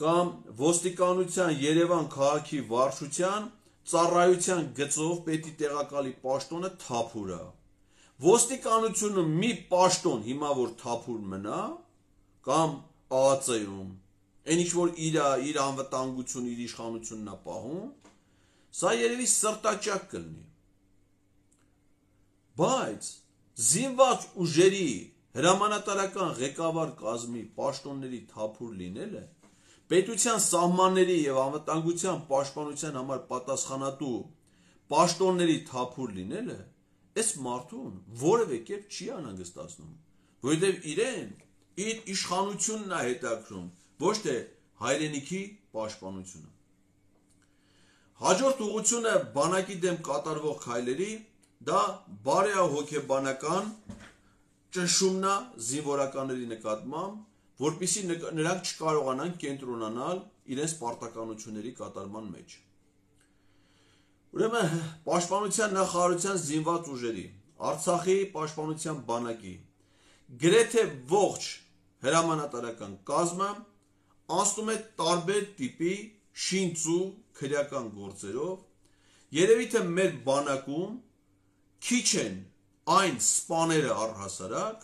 կամ ոստիկանության Երևան քաղաքի վարչության ծառայության գծով պետի տեղակալի պաշտոնը թափուր է։ Ոստիկանությունը մի պաշտոն հիմա որ թափուր մնա, կամ ԱԱԾ-ում, այն ինչ որ իր անվտանգություն, իր իշխանությունն է պահում, սա երևի սրտաճակ կլինի։ Բայց զինված ուժերի հրամանատարական ղեկավար կազմի պաշտոնների թափուր լինելը պետության սահմանների եւ անվտանգության պաշտպանության համար պատասխանատու պաշտոնների թափուր լինելը այս մարդուն որևէ կերպ չի անհանգստացնում, որովհետեւ իրեն իր իշխանությունն է հետաքրում, ոչ թե հայրենիքի պաշտպանությունը։ Հաջորդ ուղղությունը բանակի դեմ կատարվող քայլերի դա բարեհոգեբանական ճնշումն է զինվորականների նկատմամբ, որպեսզի նրանք չկարողանան կենտրոնանալ իրենց պարտականությունների կատարման մեջ։ Ուրեմն պաշտպանության նախարարության զինված ուժերի, Արցախի պաշտպանության բանակի գրեթե ողջ հրամանատարական կազմը անցնում է տարբեր տիպի շինծու քրեական գործերով, երևի թե մեր բանակում քիչ են այն սպաները առհասարակ,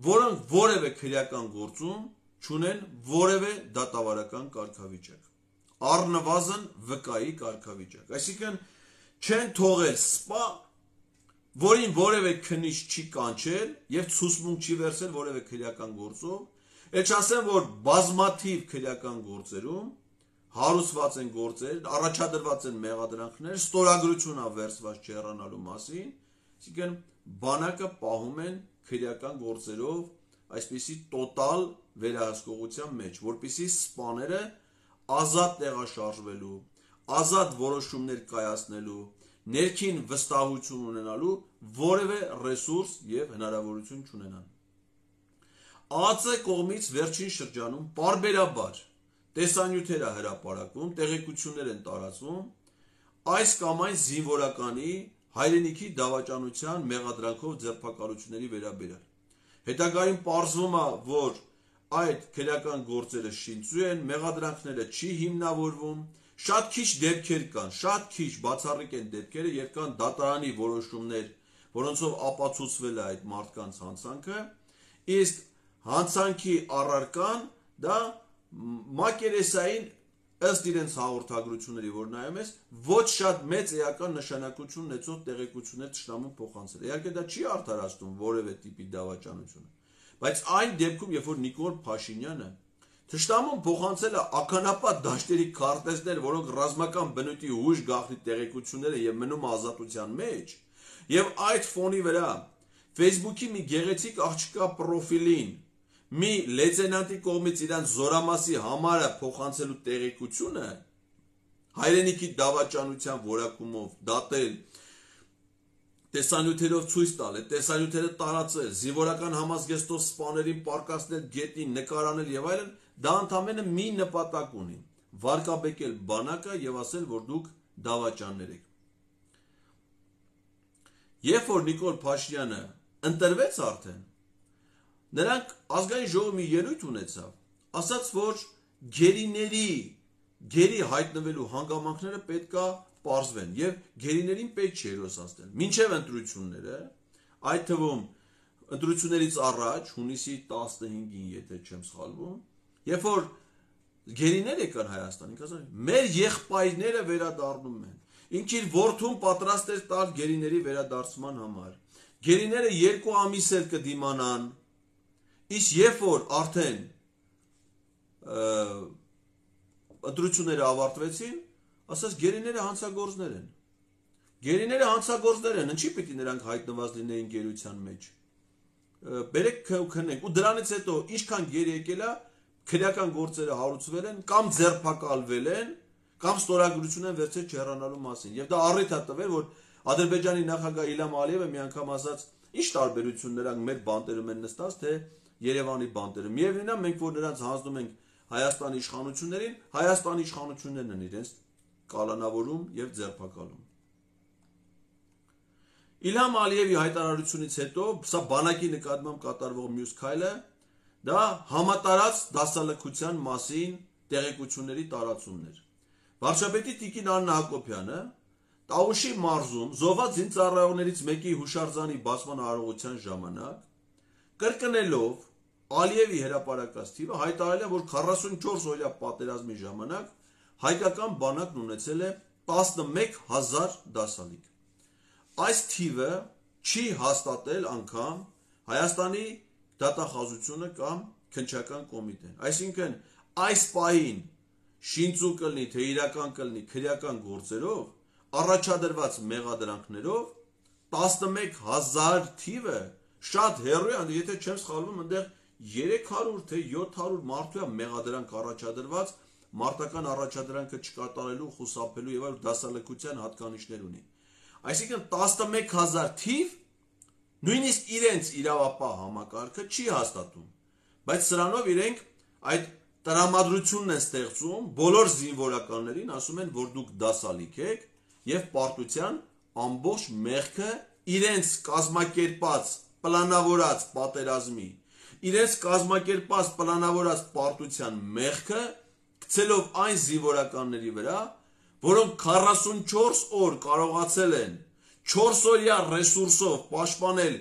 որոնք որևէ քրեական գործում չունեն որևէ դատավարական կարգավիճակ, առնվազն վկայի կարգավիճակ, այսինքն չեն թողել սպա, որին որևէ քննիչ չի կանչել եւ ցուսմունք չի վերցել որևէ քրեական գործով, էլ չասեմ, որ բազմաթիվ քրեական գործերում հարուցված են գործեր, առաջադրված են մեղադրանքներ, ստորագրություն ա վերցված չհեռանալու մասին, այսինքն բանակը պահում են քրեական գործերով այսպիսի տոտալ վերահսկողության մեջ, որպեսզի սպաները ազատ տեղաշարժվելու, ազատ որոշումներ կայացնելու, ներքին վստահություն ունենալու որևէ ռեսուրս եւ հնարավորություն չունենան։ ԱԱԾ կողմից վերջին շրջանում պարբերաբար տեսանյութեր է հրապարակվում, տեղեկություններ են տարածվում այս կամ այն զինվորականի հայրենիքի դավաճանության մեղադրանքով ձերբակալությունների վերաբերյալ։ Հետագայում պարզվում է, որ այդ քրեական գործերը շինծու են, մեղադրանքները չի հիմնավորվում, շատ քիչ դեպքեր կան, շատ քիչ բացառիկ են դեպքերը, երբ կան դատարանի որոշումներ, որոնցով ապացուցվել է այդ մարդկանց հանցանքը, իսկ հանցանքի առարկան դա մակերեսային ըստ իրենց հաղորդագրությունների, որ նայում ես, ոչ շատ մեծ էական նշանակություն ունեցող տեղեկություններ թշնամուն փոխանցել։ Իհարկե դա չի արդարացնում որևէ տիպի դավաճանությունը, բայց այն դեպքում, երբ որ Նիկոլ Փաշինյանը թշնամուն փոխանցել է ականապատ դաշտերի քարտեզներ, որոնք ռազմական բնույթի հույժ գաղտնի տեղեկություններ են եւ մնում ազատության մեջ, եւ այդ ֆոնի վրա Facebook-ի մի գեղեցիկ աղջկա պրոֆիլին մի լեյտենանտի կողմից իրանց զորամասի համարը փոխանցելու տեղեկությունը հայրենիքի դավաճանության որակումով դատել, տեսանյութերով ցույց տալ, այդ տեսանյութերը տարածել, զինվորական համազգեստով սպաներին պարկասնել գետին, նկարանել եւ այլն, դա ընդամենը մի նպատակ ունի՝ վարկաբեկել բանակը եւ ասել, որ դուք դավաճաններ եք։ երբ որ Նիկոլ Փաշինյանը ընտրվեց արդեն, նրանք ազգային ժողովի մի ելույթ ունեցավ, ասաց, որ գերի հայտնվելու հանգամանքները պետքա պարզվեն եւ գերիներին պետք չէ հերոսացնել։ Մինչև ընտրությունները, այդ թվում ընտրություններից առաջ, հունիսի 15-ին, եթե չեմ սխալվում, երբ որ գերիներ եկան Հայաստան, ասան, մեր եղբայրները վերադառնում են։ Ինքը իր որդուն պատրաստ էր տալ գերիների վերադարձման համար։ Գերիները 2 ամիս էլ կդիմանան, իսկ երբ որ արդեն ընտրությունները ավարտվեցին, ասաց գերիները հանցագործներ են։ Գերիները հանցագործներ են, ինչի պիտի նրանք հայտնված լինեին գերության մեջ։ Բերեք քնենք, ու դրանից հետո ինչքան գերի եկել է, քրեական գործերը հարուցվել են, կամ ձերբակալվել են, կամ ստորագրություն են վերցրել չհեռանալու մասին։ Եվ դա առիթ է տվել, որ Ադրբեջանի նախագահ Իլհամ Ալիևը մի անգամ ասաց, ինչ տարբերություն նրանք մեր բանտերում են նստած, թե Երևանի բանտերում։ Միևնույնն է, մենք որ նրանց հանձնում ենք Հայաստանի իշխանություններին, Հայաստանի իշխանություններն են իրենց կալանավորում եւ ձերբակալում։ Իլհամ Ալիևի հայտարարությունից հետո սա բանակի նկատմամբ կատարվող մյուս քայլը դա համատարած դասալքության մասին տեղեկությունների տարածումն էր։ Վարչապետի Տիկին Աննա Հակոբյանը Տաուշի մարզում զոհված զինծառայողներից մեկի հուշարձանի բացման արարողության ժամանակ կրկնելով Ալիևի հրապարակած թիվը հայտարարել է, որ 44 օրյա պատերազմի ժամանակ հայկական բանակն ունեցել է 11000 դասալիկ։ Այս թիվը չի հաստատել անգամ Հայաստանի դատախազությունը կամ քննչական կոմիտեն։ Այսինքն այս պահին շինծու կլինի, թե իրական կլինի քրեական գործերով, առաջադրված մեղադրանքներով 11000 թիվը շատ հեռու է, եթե չեմ սխալվում, այնտեղ 300 թե 700 մարդու է մեղադրանք առաջադրված, մարտական առաջադրանքը չկատարելու, խուսափելու եւ այլ դասալքության հատկանիշներ ունի։ Այսինքն 11000 թիվ նույնիսկ իրենց իրավապահ համակարգը չի հաստատում, բայց սրանով իրենք այդ տրամադրությունն են ստեղծում բոլոր զինվորականներին, ասում են, որ դուք դասալիկ եք եւ պարտության ամբողջ մեղքը իրենց կազմակերպած պլանավորած պատերազմի, իրենց կազմակերպած պլանավորած պարտության մեղքը գցելով այն զինվորականների վրա, որոնք 44 օր կարողացել են 4 օրյա ռեսուրսով պաշտպանել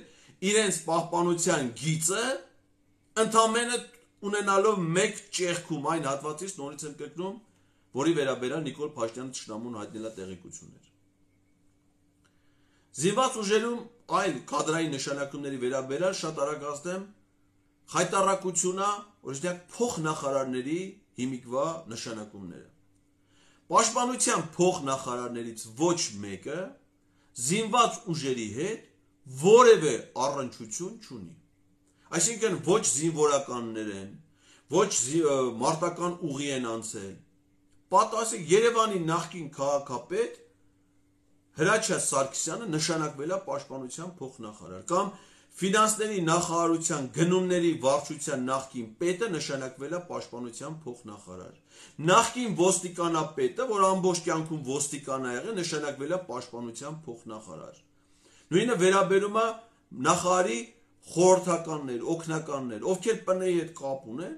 իրենց պահպանության գիծը, ընդամենը ունենալով մեկ ճեղքում այն հատվածից նորից եմ կրկնում, որի վերաբերյալ Նիկոլ Փաշինյանը թշնամուն հայտնելա տեղեկություններ։ Զինված ուժերում այլ կադրային նշանակումների վերաբերյալ շատ արագ ասեմ, խայտառակությունա, օրինակ փոխնախարարների հիմիկվա նշանակումները։ Պաշտպանության փոխնախարարներից ոչ մեկը զինված ուժերի հետ որևէ առնչություն չունի։ Այսինքն ոչ զինվորականներ են, ոչ մարտական ուղի են անցել։ Պատասխան Երևանի նախկին քաղաքապետ Հրաչյա Սարգսյանը նշանակվել է պաշտպանության փոխնախարար կամ ֆինանսների նախարարության գնումների վարչության նախկին պետը նշանակվել է պաշտպանության փոխնախարար։ Նախկին ոստիկանապետը, որ ամբողջ կյանքում ոստիկան է եղել, նշանակվել է պաշտպանության փոխնախարար։ Նույնը վերաբերում է նախարարի խորհրդականներ, օգնականներ, ովքեր ՊՆ-ի հետ կապ ունեն,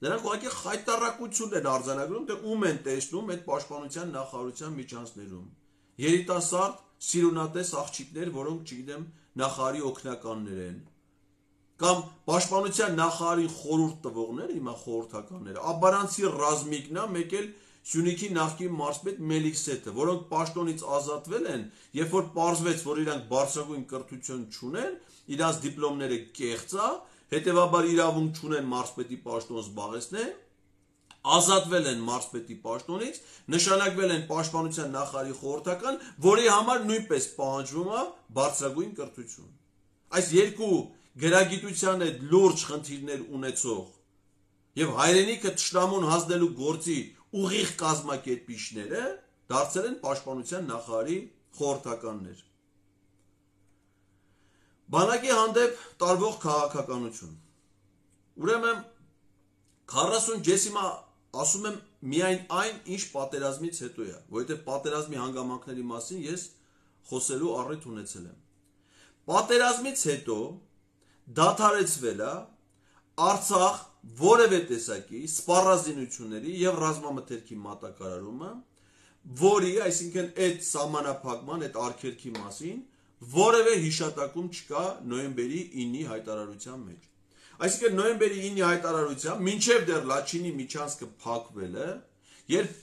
նրանք ուղղակի խայտառակություն են արձանագրում, թե ում են տեսնում այդ պաշտպանության նախարարության միջանցներում։ Երիտասարդ, սիրունատես աղջիկներ, որոնք, չգիտեմ, նախարարի օգնականներ են, կամ պաշտպանության նախարարի խորհուրդ տվողներ, հիմա խորհրդականները, Աբարանցի Ռազմիկն է, մեկ էլ Սյունիքի նախկին մարզպետ Մելիքսեթը, որոնք պաշտոնից ազատվել են, երբ որ պարզվեց, որ իրանք բարձրագույն կրթություն չունեն, իրանց դիպլոմները կեղծ է, հետևաբար իրավունք չունեն մարզպետի պաշտոն զբաղեցնել, ազատվել են մարզպետի պաշտոնից, նշանակվել են պաշտպանության նախարարի խորհրդական, որի համար նույնպես պահանջվում է բարձրագույն կրթություն։ Այս երկու գրագիտության հետ լուրջ խնդիրներ ունեցող եւ հայրենիքը թշնամուն հանձնելու գործի ուղիղ կազմակերպիչները դարձել են պաշտպանության նախարարի խորհրդականներ։ Բանակի հանդեպ տարվող քաղաքականություն։ Ուրեմն 40 ջեսիմա ասում եմ միայն այն, ինչ պատերազմից հետո է, որովհետև պատերազմի հանգամանքների մասին ես խոսելու առիթ ունեցել եմ։ պատերազմից հետո դադարեցվել է Արցախ որևէ տեսակի սպառազինությունների եւ ռազմամթերքի մատակարարումը, որի, այսինքն այդ սահմանափակման, այդ արգելքի մասին որևէ հիշատակում չկա նոյեմբերի 9-ի հայտարարության մեջ։ Այսինքն նոյեմբերի 9-ի հայտարարությամբ մինչև դեռ Լաչինի միջանցքը փակվել է, երբ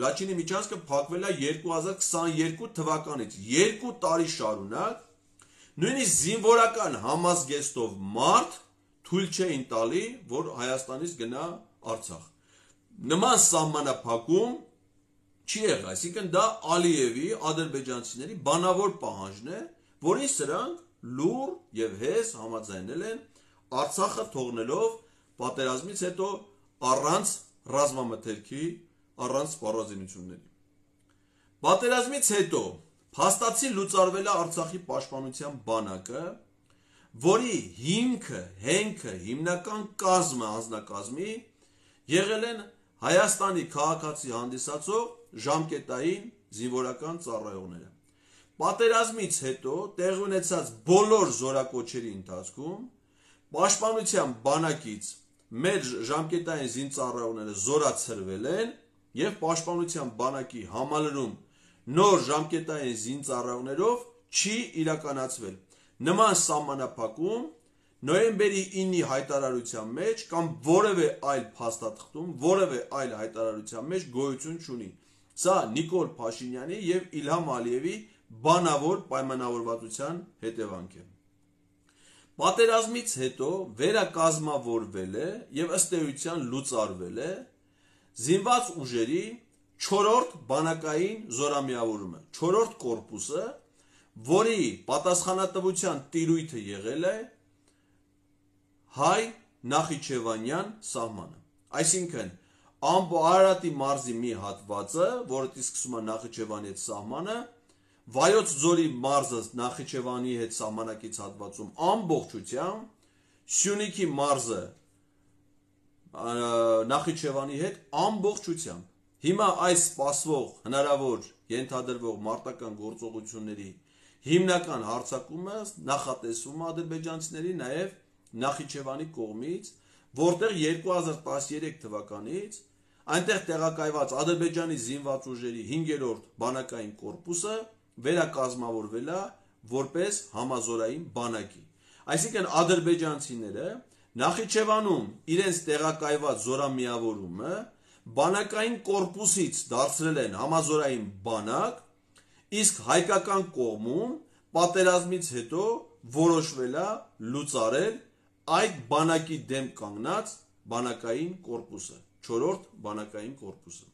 Լաչինի միջանցքը փակվել է 2022 թվականից 2 տարի շարունակ, նույնիսկ զինվորական համազգեստով մարդ թույլ չէին տալի, որ Հայաստանից գնա Արցախ։ Նման սահմանափակում չի եղել, այսինքն դա Ալիևի ադրբեջանցիների բանավոր պահանջն է, որին սրանք լուռ եւ հեզ համաձայնել են Արցախը թողնելով պատերազմից հետո առանց ռազմամթերքի, առանց սպառազինությունների։ Պատերազմից հետո փաստացի լուծարվել է Արցախի պաշտպանության բանակը, որի հիմքը, հենքը, հիմնական կազմը, անձնակազմի եղել են Հայաստանի քաղաքացի հանդիսացող ժամկետային զինվորական ծառայողները։ Պատերազմից հետո տեղի ունեցած բոլոր զորակոչերի ընթացքում պաշտպանության բանակից մեր ժամկետային զինծառայողները զորացրվել են եւ պաշտպանության բանակի համալրում նոր ժամկետային զինծառայողներով չի իրականացվել։ Նման սահմանափակում նոյեմբերի 9-ի հայտարարության մեջ կամ որևէ այլ փաստաթղթում, որևէ այլ հայտարարության մեջ գոյություն չունի։ Սա Նիկոլ Փաշինյանի եւ Իլհամ Ալիևի բանավոր պայմանավորվածության հետևանք է։ Պատերազմից հետո վերակազմավորվել է եւ ըստ էության լուծարվել է զինված ուժերի 4-րդ բանակային զորամիավորումը, 4-րդ կորպուսը, որի պատասխանատվության տիրույթը եղել է հայ Նախիջևանյան սահմանը։ Այսինքն Արարատի մարզի մի հատվածը, որը սկսում է Նախիջևանի հետ սահմանը, Վայոց ձորի մարզը Նախիջևանի հետ սահմանակից հատվածում ամբողջությամբ, Սյունիքի մարզը Նախիջևանի հետ ամբողջությամբ։ Հիմա այս սպասվող հնարավոր ենթադրվող մարտական գործողությունների հիմնական հարձակումը նախատեսվում ադրբեջանցիների նաև Նախիջևանի կողմից, որտեղ 2013 թվականից այնտեղ տեղակայված Ադրբեջանի զինված ուժերի 5-րդ բանակային կորպուսը վերակազմավորվել է որպես համազորային բանակի։ Այսինքն ադրբեջանցիները Նախիջևանում իրենց տեղակայված զորամիավորումը բանակային կորպուսից դարձրել են համազորային բանակ, իսկ հայկական կողմում պատերազմից հետո որոշվել է լուծարել այդ բանակի դեմ կանգնած բանակային կորպուսը, 4-րդ բանակային կորպուսը։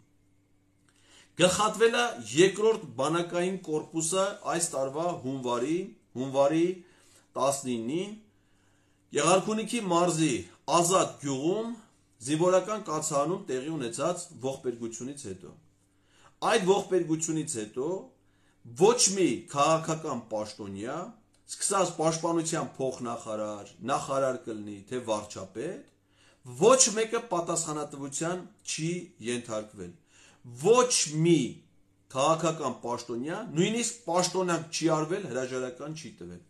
Գլխատվել է 2-րդ բանակային կորպուսը այս տարվա հունվարի 19-ին Եղարքունիքի մարզի Ազատ գյուղում զինվորական կացարանում տեղի ունեցած ողբերգությունից հետո։ Այդ ողբերգությունից հետո ոչ մի քաղաքական պաշտոնյա, սկսած պաշտպանության փոխնախարար, նախարար կլինի, թե վարչապետ, ոչ մեկը պատասխանատվության չի ենթարկվել։ Ոչ մի քաղաքական պաշտոնյա, նույնիսկ պաշտոնանկ չի արվել, հրաժարական չի տվել։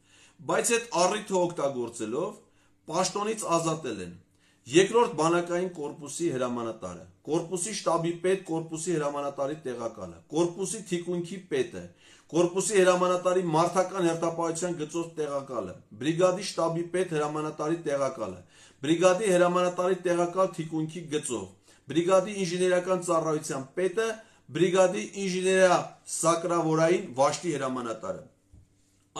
Բայց այդ առիթը օգտագործելով պաշտոնից ազատել են 2-րդ բանակային կորպուսի հրամանատարը, կորպուսի շտաբի պետ, կորպուսի հրամանատարի տեղակալը, կորպուսի թիկունքի պետը, կորպուսի հրամանատարի մարդական հերթապահության գծով տեղակալը, բրիգադի շտաբի պետ հրամանատարի տեղակալը, բրիգադի հրամանատարի տեղակալ թիկունքի գծով, բրիգադի ինժեներական ծառայության պետը, բրիգադի ինժեներիա-սակրավորային վաշտի հրամանատարը։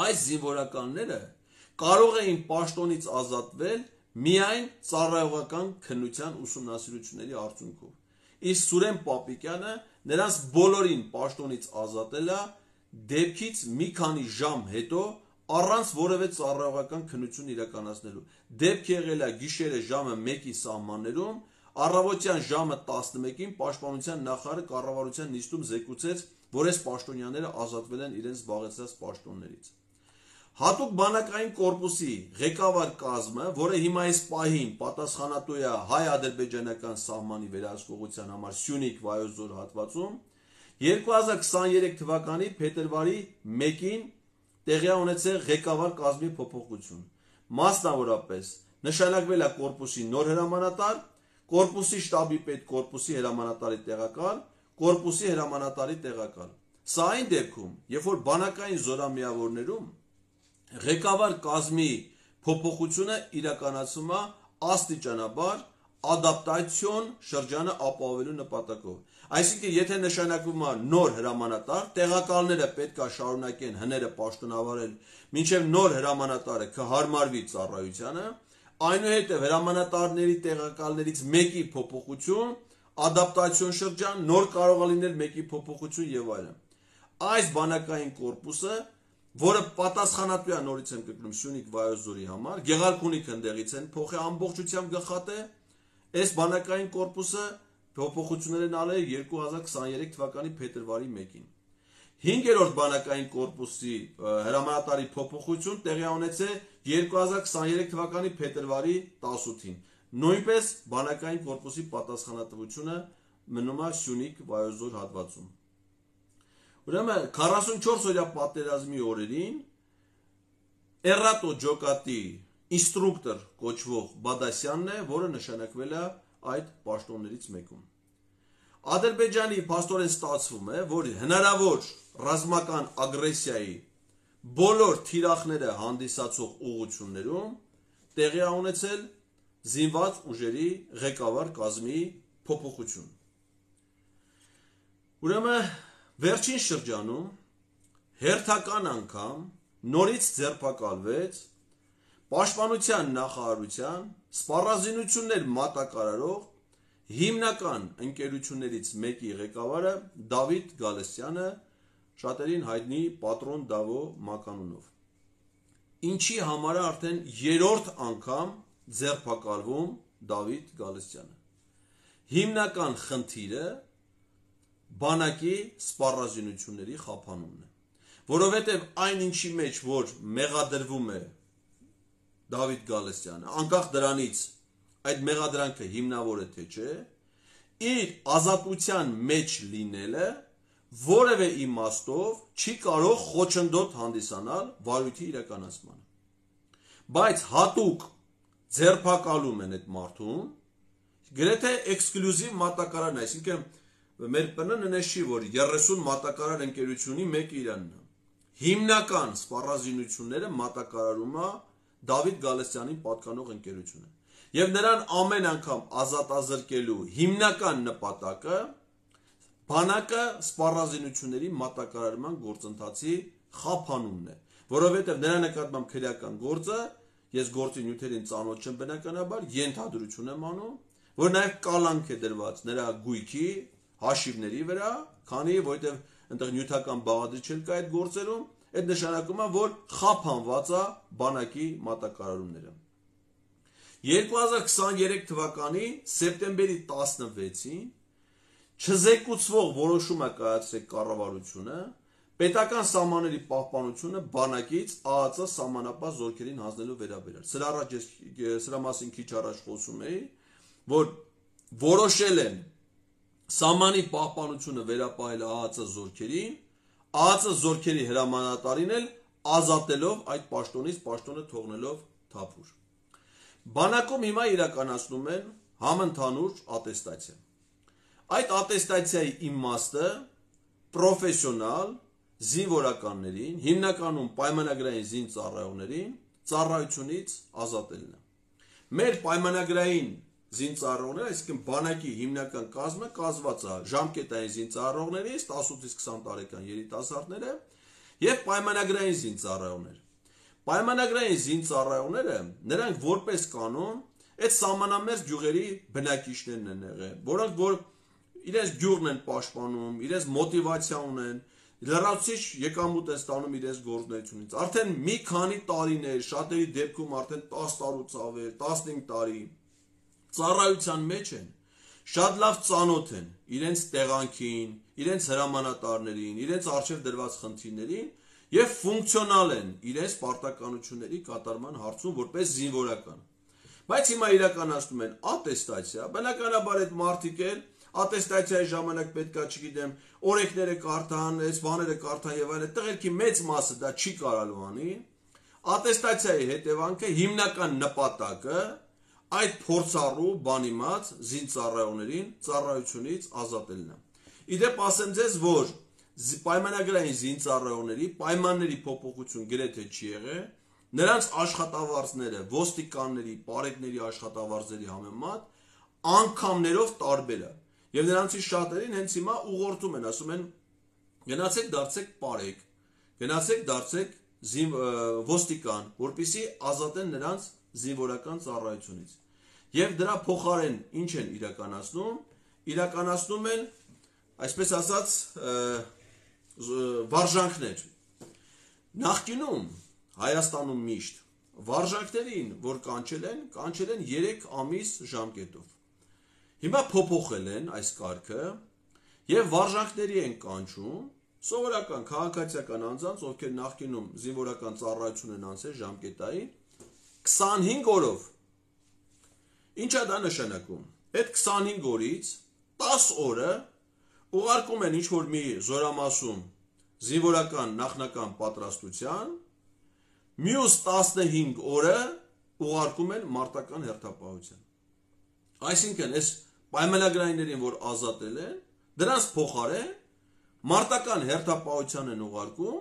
Այս զինվորականները կարող էին պաշտոնից ազատվել միայն ծառայողական քննության ուսումնասիրությունների արդյունքով։ Իսկ Սուրեն Պապիկյանը նրանց բոլորին պաշտոնից ազատել է դեպքից մի քանի ժամ հետո առանց որևէ ծառայողական քննություն իրականացնելու։ Դեպք եղել է գիշերը ժամը 1-ի սահմաններում, առավոտյան ժամը 11-ին պաշտպանության նախարարը կառավարության նիստում զեկուցեց, որ այս պաշտոնյաները ազատվել են իրենց զբաղեցրած պաշտոններից։ Հատուկ բանակային կորպուսի ղեկավար կազմը, որը հիմա այս պահին պատասխանատու է հայ-ադրբեջանական սահմանի վերահսկողության համար Սյունիք Վայոց ձոր հատվածում, 2023 թվականի փետրվարի 1-ին տեղի ունեցել ղեկավար կազմի փոփոխություն։ Մասնավորապես նշանակվել է կորպուսի նոր հրամանատար, կորպուսի շտաբի պետ, կորպուսի հրամանատարի տեղակալ, կորպուսի հրամանատարի տեղակալ։ Սա այն դեպքում, երբ որ բանակային զորամիավորներում ղեկավար կազմի փոփոխությունը իրականացվում է աստիճանաբար ադապտացիոն շրջանը ապահովելու նպատակով։ Այսինքն, եթե նշանակվում է նոր հրամանատար, տեղակալները պետք է շարունակեն հները պաշտոնավարել, մինչև նոր հրամանատարը կհարմարվի ծառայությանը, այնուհետև հրամանատարների տեղակալներից մեկի փոփոխություն, ադապտացիոն շրջան, նոր կարող է լինել մեկի փոփոխություն եւ այլն։ Այս բանակային կորպուսը, որը պատասխանատու է, նորից եմ կգնում, Սյունիք Վայոց ձորի համար, Գեղարքունիք ընդեղից են փոխի ամբողջությամբ գլխատե, այս բանակային կորպուսը փոփոխություններ են արել 2023 թվականի փետրվարի 1-ին։ 5-րդ բանակային կորպուսի հրամանատարի փոփոխություն տեղի ունեցել 2023 թվականի փետրվարի 18-ին։ Նույնպես բանակային կորպուսի պատասխանատվությունը մնում է Սյունիք Վայոց ձոր հատվածում։ Ուրեմն 44-օրյա պատերազմի օրերին Էռատո ջոկատի ինստրուկտոր կոչվող Բադասյանն է, որը նշանակվել է այդ պաշտոններից մեկում։ Ադրբեջանի փաստորեն ստացվում է, որ հնարավոր ռազմական ագրեսիայի բոլոր թիրախները հանդիսացող ուղղություններում տեղի է ունեցել զինված ուժերի ղեկավար կազմի փոփոխություն։ Ուրեմն վերջին շրջանում հերթական անգամ նորից ձերբակալվեց Պաշտպանության նախարարության սպառազինություններ մատակարարող հիմնական ընկերություններից մեկի ղեկավարը Դավիթ Գալստյանը, շատերին հայտնի Պատրոն Դավո մականունով։ Ինչի համար է արդեն 3-րդ անգամ ձերբակալվում Դավիթ Գալստյանը։ Հիմնական խնդիրը բանակի սպառազինությունների խափանումն է, որովհետև այն ինչի մեջ որ մեղադրվում է Դավիթ Գալստյանը, անկախ դրանից այդ մեղադրանքը հիմնավոր է թե չէ, իր ազատության մեջ լինելը որևէ իմաստով չի կարող խոչընդոտ հանդիսանալ վարույթի իրականացմանը։ Բայց հատուկ ձերբակալում են այդ մարդուն, գրեթե էքսկլյուզիվ մատակարարն, այսինքն մեր ՊՆ-ն նշի, որ 30 մատակարար ընկերությունի մեկը իրանն է։ Հիմնական սպառազինությունները մատակարարում է Դավիթ Գալստյանին պատկանող ընկերությունը։ Եվ նրան ամեն անգամ ազատազրկելու հիմնական նպատակը բանակը սպառազինությունների մատակարարման գործընթացի խափանումն է, որովհետև նրա նկատմամբ քրեական գործը, ես գործի նյութերին ծանոթ չեմ բնականաբար, ենթադրություն եմ անում, որ նաև կալանք է դրված նրա գույքի հաշիվների վրա, քանի որովհետև այնտեղ նյութական բաղադրիչ չկա այդ գործերում, այդ նշանակում է, որ խափանված է բանակի մատակարարումները։ 2023 թվականի սեպտեմբերի 16-ին չզեկուցվող որոշում է կայացրել կառավարությունը պետական սահմանների պահպանությունը բանակից ԱԱԾ սահմանապահ զորքերին հանձնելու վերաբերյալ։ Սրա մասին քիչ առաջ խոսում էի, որ որոշել են սահմանի պահպանությունը վերապահել ԱԱԾ զորքերին, ԱԱԾ զորքերի հրամանատարին էլ ազատելով այդ պաշտոնից, պաշտոնը թողնելով թափուր։ Բանակում հիմա իրականացնում են համընդհանուր ատեստացիա։ Այդ ատեստացիայի իմաստը պրոֆեսիոնալ զինվորականներին, հիմնականում պայմանագրային զինծառայողներին ծառայությունից ազատելն է։ Մեր պայմանագրային զինծառայողները, այսինքն բանակի հիմնական կազմը կազմված է ժամկետային զինծառայողներից 18-ից 20 տարեկան երիտասարդները եւ պայմանագրային զինծառայողներ։ Պայմանագրային զինծառայողները նրանք որպես կանոն այդ սահմանամերձ գյուղերի բնակիչներն են եղել, որոնք որ իրենց գյուղն են պաշտպանում, իրենց մոտիվացիա ունեն, լրացուցիչ եկամուտ են ստանում իրենց գործունեությունից։ Արդեն մի քանի տարիներ, շատերի դեպքում արդեն 10 տարուց ավել, 15 տարի ծառայության մեջ են, շատ լավ ծանոթ են իրենց տեղանքին, իրենց հրամանատարներին, իրենց առջև դրված խնդիրներին եւ ֆունկցիոնալ են իրենց պարտականությունների կատարման հարցում որպես զինվորական։ Բայց հիմա իրականացնում են ատեստացիա, բնականաբար այդ մարդիկ էլ ատեստացիայի ժամանակ պետքա, չգիտեմ, օրենքները կարդան, այս բաները կարդան եւ այլն, տղերքի մեծ մասը դա չի կարալու անի։ Ատեստացիայի հետևանքը հիմնական նպատակը այդ փորձառու բանիմաց զինծառայողներին ծառայությունից ազատելն է։ Իդեպ ասեմ ձեզ, որ պայմանագրային զինծառայողների պայմանների փոփոխություն գրեթե չի եղել, նրանց աշխատավարձները ոստիկանների, պարեկների աշխատավարձերի համեմատ անգամներով տարբեր է։ Եվ նրանցից շատերին հենց հիմա ուղղորդում են, ասում են գնացեք դարձեք պարեկ, գնացեք դարձեք ոստիկան, որպեսզի ազատեն նրանց զինվորական ծառայությունից։ Եվ դրա փոխարեն ինչ են իրականացնում։ Իրականացնում են, այսպես ասած, վարժանքներ։ Նախկինում Հայաստանում միշտ վարժանքներին, որ կանչել են 3 ամիս ժամկետով։ Հիմա փոփոխել են այս կարգը եւ վարժանքների են կանչում սովորական քաղաքացիական անձանց, ովքեր նախկինում զինվորական ծառայություն են անցել ժամկետային 25 օրով։ Ինչա դա նշանակում։ Այդ 25 օրից 10 օրը ուղարկում են ինչ-որ մի զորամասում զինվորական նախնական պատրաստության, մյուս 15 օրը ուղարկում են մարտական հերթապահության։ Այսինքն, այս պայմանագրայիններին, որ ազատել են, դրանց փոխարեն մարտական հերթապահության են ուղարկում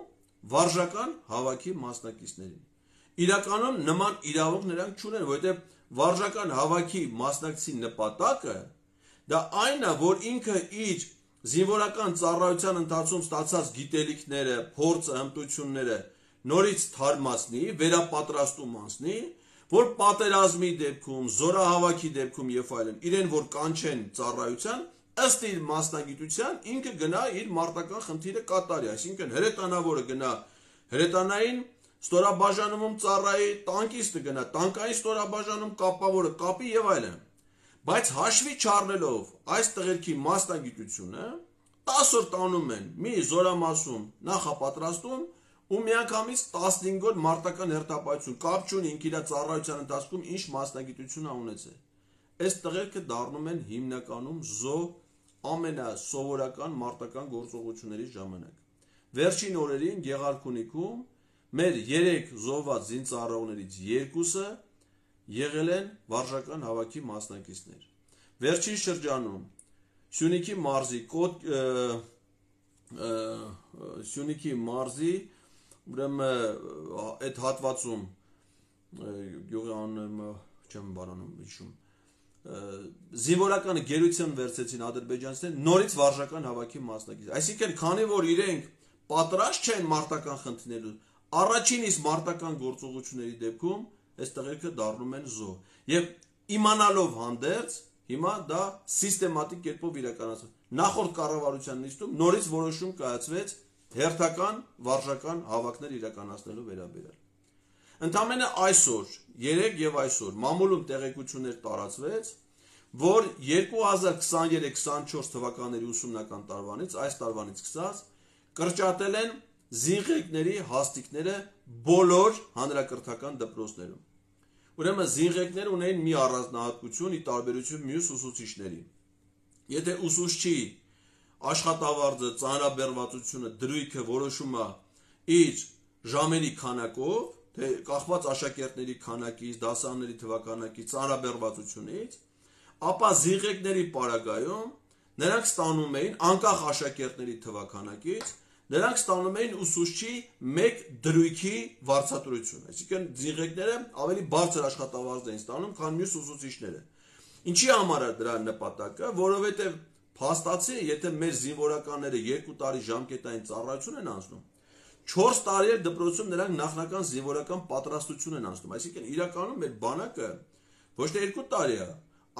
վարժական հավաքի մասնակիցներին։ Իրականում նման իրավունք նրանք չունեն, որովհետև վարժական հավաքի մասնակցի նպատակը դա այն է, որ ինքը իր զինվորական ծառայության ընթացքում ստացած գիտելիքները, փորձը, հմտությունները նորից թարմացնի, վերապատրաստում անցնի, որ պատերազմի դեպքում, զորահավաքի դեպքում եւ այլն, իրեն որ կանչեն ծառայության, ըստ իր մասնագիտության ինքը գնա իր մարտական խնդիրը կատարի, այսինքն հրետանավորը գնա հրետանային ստորաբաժանումում ծառայի, տանկիստը գնա տանկային ստորաբաժանում կապավորը կապի եւ այլն։ Բայց հաշվի չառնելով այս տղերքի մասնագիտությունը 10 օր տանում են մի զորամասում նախապատրաստում ու միանգամից 15 օր մարտական հերթապահություն կապ չունի ինքը իր ծառայության ընթացքում ինչ մասնագիտություն ա ունեցել։ Այս տղերքը դառնում են հիմնականում զո ամենասովորական մարտական գործողությունների ժամանակ։ Վերջին օրերին Գեղարքունիքում մեր 3 զոհված զինծառայողներից 2-ը եղել են վարժական հավաքի մասնակիցներ։ Վերջին շրջանում Սյունիքի մարզի ուրեմն այդ հատվածում գյուղի անունը չեմ բանանում հիշում զինվորականը գերություն վերցեցին ադրբեջանցիները նորից վարժական հավաքի մասնակից։ Այսինքն, քանի որ իրենք պատրաստ չեն մարտական խնդիրներու, առաջին իսկ մարտական գործողությունների դեպքում այս տղերքը դառնում են զոհ։ Եվ իմանալով հանդերձ հիմա դա սիստեմատիկ կերպով իրականացվում։ Նախորդ կառավարության նիստում նորից որոշում կայացվեց հերթական վարժական հավաքներ իրականացնելու վերաբերյալ։ Ընդամենը այսօր, 3 եւ այսօր մամուլում տեղեկություններ տարածվեց, որ 2023-24 թվականների ուսումնական տարվանից, այս տարվանից սկսած, կրճատել են զինղեկների հաստիկները բոլոր հանրակրթական դպրոցներում։ Ուրեմն զինղեկները ունեն մի առանձնահատկություն՝ ի տարբերություն մյուս ուսուցիչների։ Եթե ուսուցչի աշխատավարձը, ծանրաբեռվածությունը, դրույքը որոշում է իր ժամերի քանակով, թե կախված աշակերտների քանակից, դասարանների թվականակից, ծանրաբեռվածությունից, ապա զինղեկների պարագայում նրանք ստանում էին անկախ աշակերտների թվականակից, նրանք ստանում էին ուսուցչի 1 դրույքի վարձատրություն, այսինքն զինղեկները ավելի բարձր աշխատավարձ էին ստանում, քան մյուս ուսուցիչները։ Ինչի համար է դրա նպատակը, որովհետև փաստացի, եթե մեր զինվորականները 2 տարի ժամկետային ծառայություն են անցնում, 4 տարի է դպրոցում նրանք նախնական զինվորական պատրաստություն են անցնում, այսինքն իրականում մեր բանակը ոչ թե 2 տարի է,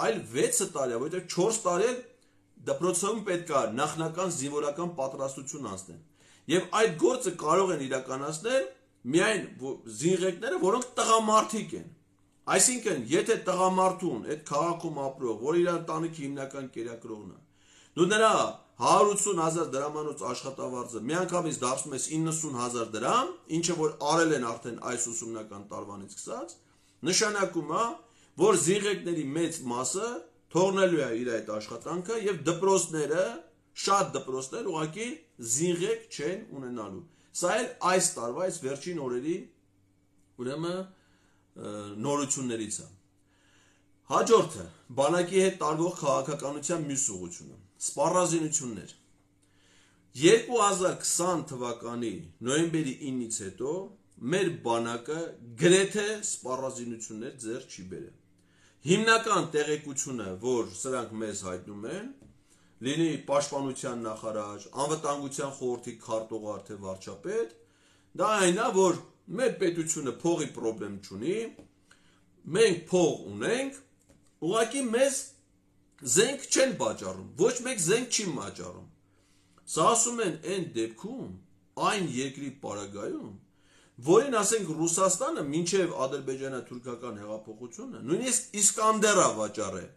այլ 6 տարի է, որովհետև 4 տարի դպրոցում պետք է նախնական զինվորական պատրաստություն անցնեն։ Եվ այդ գործը կարող են իրականացնել միայն զինղեկները, որոնք տղամարդիկ են։ Այսինքն, եթե տղամարդուն այդ քաղաքում ապրող, որ իր ընտանիքի հիմնական կերակրողն է, դու նրա 180,000 դրամանոց աշխատավարձը միանգամից դարձնում ես 90,000 դրամ, ինչը որ արել են արդեն այս ուսումնական տարվանից սկսած, նշանակում է, որ զինղեկների մեծ մասը թողնելու է իր այդ աշխատանքը եւ դպրոցները, շատ դպրոցներ ուղղակի զինղեք չեն ունենալու։ Սա էլ այս տարվա այս վերջին օրերի ուրեմն նորություններից է։ Հաջորդը բանակի հետ տարվող քաղաքականության մյուս ուղղությունը՝ սպառազինություններ։ 2020 թվականի նոյեմբերի 9-ից հետո մեր բանակը գրեթե սպառազինություններ ձեռք չի բերել։ Հիմնական տեղեկությունը, որ սրանք մեզ հայտնում են, լինի պաշտպանության նախարար, անվտանգության խորհրդի քարտուղար թե վարչապետ, դա այն է, որ մեր պետությունը փողի խնդրեմ չունի, մենք փող ունենք, ուղղակի մեզ զենք չեն վաճառում, ոչ մեկ զենք չի վաճառում։ Սա ասում են այն դեպքում, այն երկրի պարագայում, որին ասենք Ռուսաստանը մինչև ադրբեջանա-թուրքական հեղափոխությունը նույնիսկ Իսկանդերա վաճառել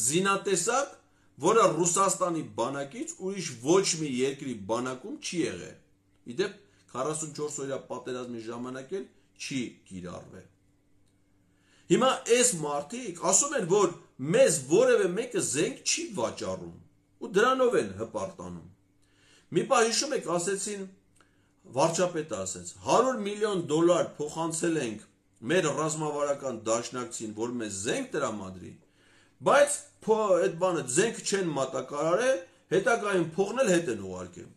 զինատեսակ, որը Ռուսաստանի բանակից ուրիշ ոչ մի երկրի բանակում չի եղել։ Իդեպ 44 օրյա պատերազմի ժամանակ էլ չի կիրառվել։ Հիմա այս մարդիկ ասում են, որ մեզ որևէ մեկը զենք չի վաճառում ու դրանով են հպարտանում։ Մի պահ հիշում եք, ասեցին, վարչապետը ասեց, $100 միլիոն փոխանցել ենք մեր ռազմավարական դաշնակցին, որ մեզ զենք տրամադրի, բայց այդ բանը զենք չեն մատակարարել, հետագայում փողն էլ հետ են ուղարկել։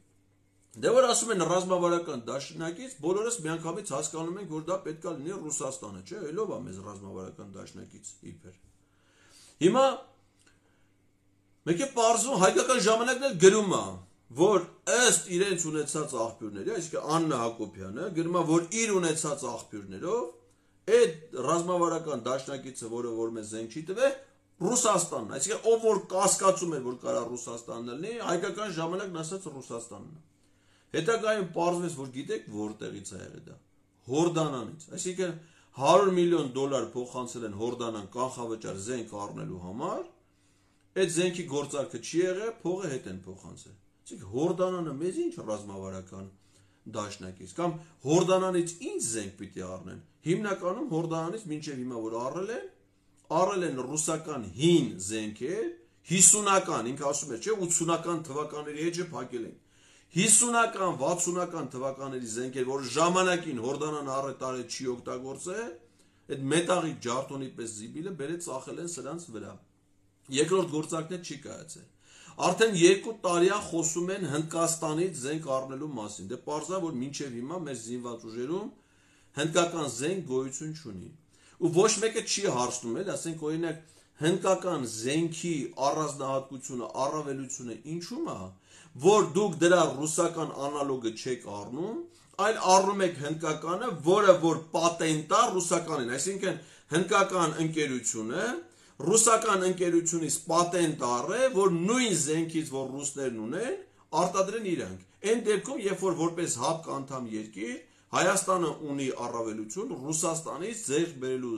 Դե որ ասում են ռազմավարական դաշնակից, բոլորս միանգամից հասկանում ենք, որ դա պետք է լինի Ռուսաստանը, չէ՞, ելով է մեզ ռազմավարական դաշնակից իբր։ Հիմա մեկ է պարզում հայկական ժամանակն էլ գրում է, որ ըստ իրենց ունեցած աղբյուրների, այսինքն Աննա Հակոբյանը գրում է, որ իր ունեցած աղբյուրներով այդ ռազմավարական դաշնակիցը, որ մեզ զենք չի տվել, Ռուսաստանն, այսինքն ով որ կասկածում էր, որ կարա Ռուսաստանն լինի, հայկական ժամանակն ասած Ռուսաստանն է։ Հետագայում պարզվեց, որ գիտեք որտեղից է եղել դա։ Հորդանանից, այսինքն $100 միլիոն փոխանցել են Հորդանան կանխավճար զենք առնելու համար, այդ զենքի գործարքը չի եղել, փողը հետ են փոխանցել։ Այսինքն Հորդանանը մեզ ինչ ռազմավարական դաշնակից, կամ Հորդանանից ինչ զենք պիտի առնեն։ Հիմնականում Հորդանանից մինչև հիմա որ առել են ռուսական հին զենքեր, 50-ական, ինքը ասում է, չէ, 80-ական թվականների հետ չփակել են։ 50-ական, 60-ական թվականների զենքեր, որ ժամանակին Հորդանան առետարը չի օգտագործել, այդ մետաղի ջարդոնի պես զիբիլը բերեց ծախել են սրանց վրա։ Երկրորդ գործակն չի կայացել։ Արդեն 2 տարի է խոսում են Հնդկաստանից զենք առնելու մասին։ Դե պարզա, որ մինչև հիմա մեր զինված ուժերում հնդկական զենք գոյություն չունի։ Ու ոչ մեկը չի հարցնում էլ, ասենք օրինակ հնդկական զենքի առանձնահատկությունը, առավելությունը ինչու՞մ է, որ դուք դրա ռուսական անալոգը չեք առնում, այլ առնում եք հնդկականը, որը որ պատենտ է ռուսականին, այսինքն հնդկական ընկերությունը ռուսական ընկերությունից պատենտ առե, որ նույն զենքից, որ ռուսներն ունեն, արտադրեն իրանք։ Այն դեպքում, երբ որ որպես ՀԱՊԿ անդամ երկիր, Հայաստանը ունի առավելություն Ռուսաստանից ձեռք բերելու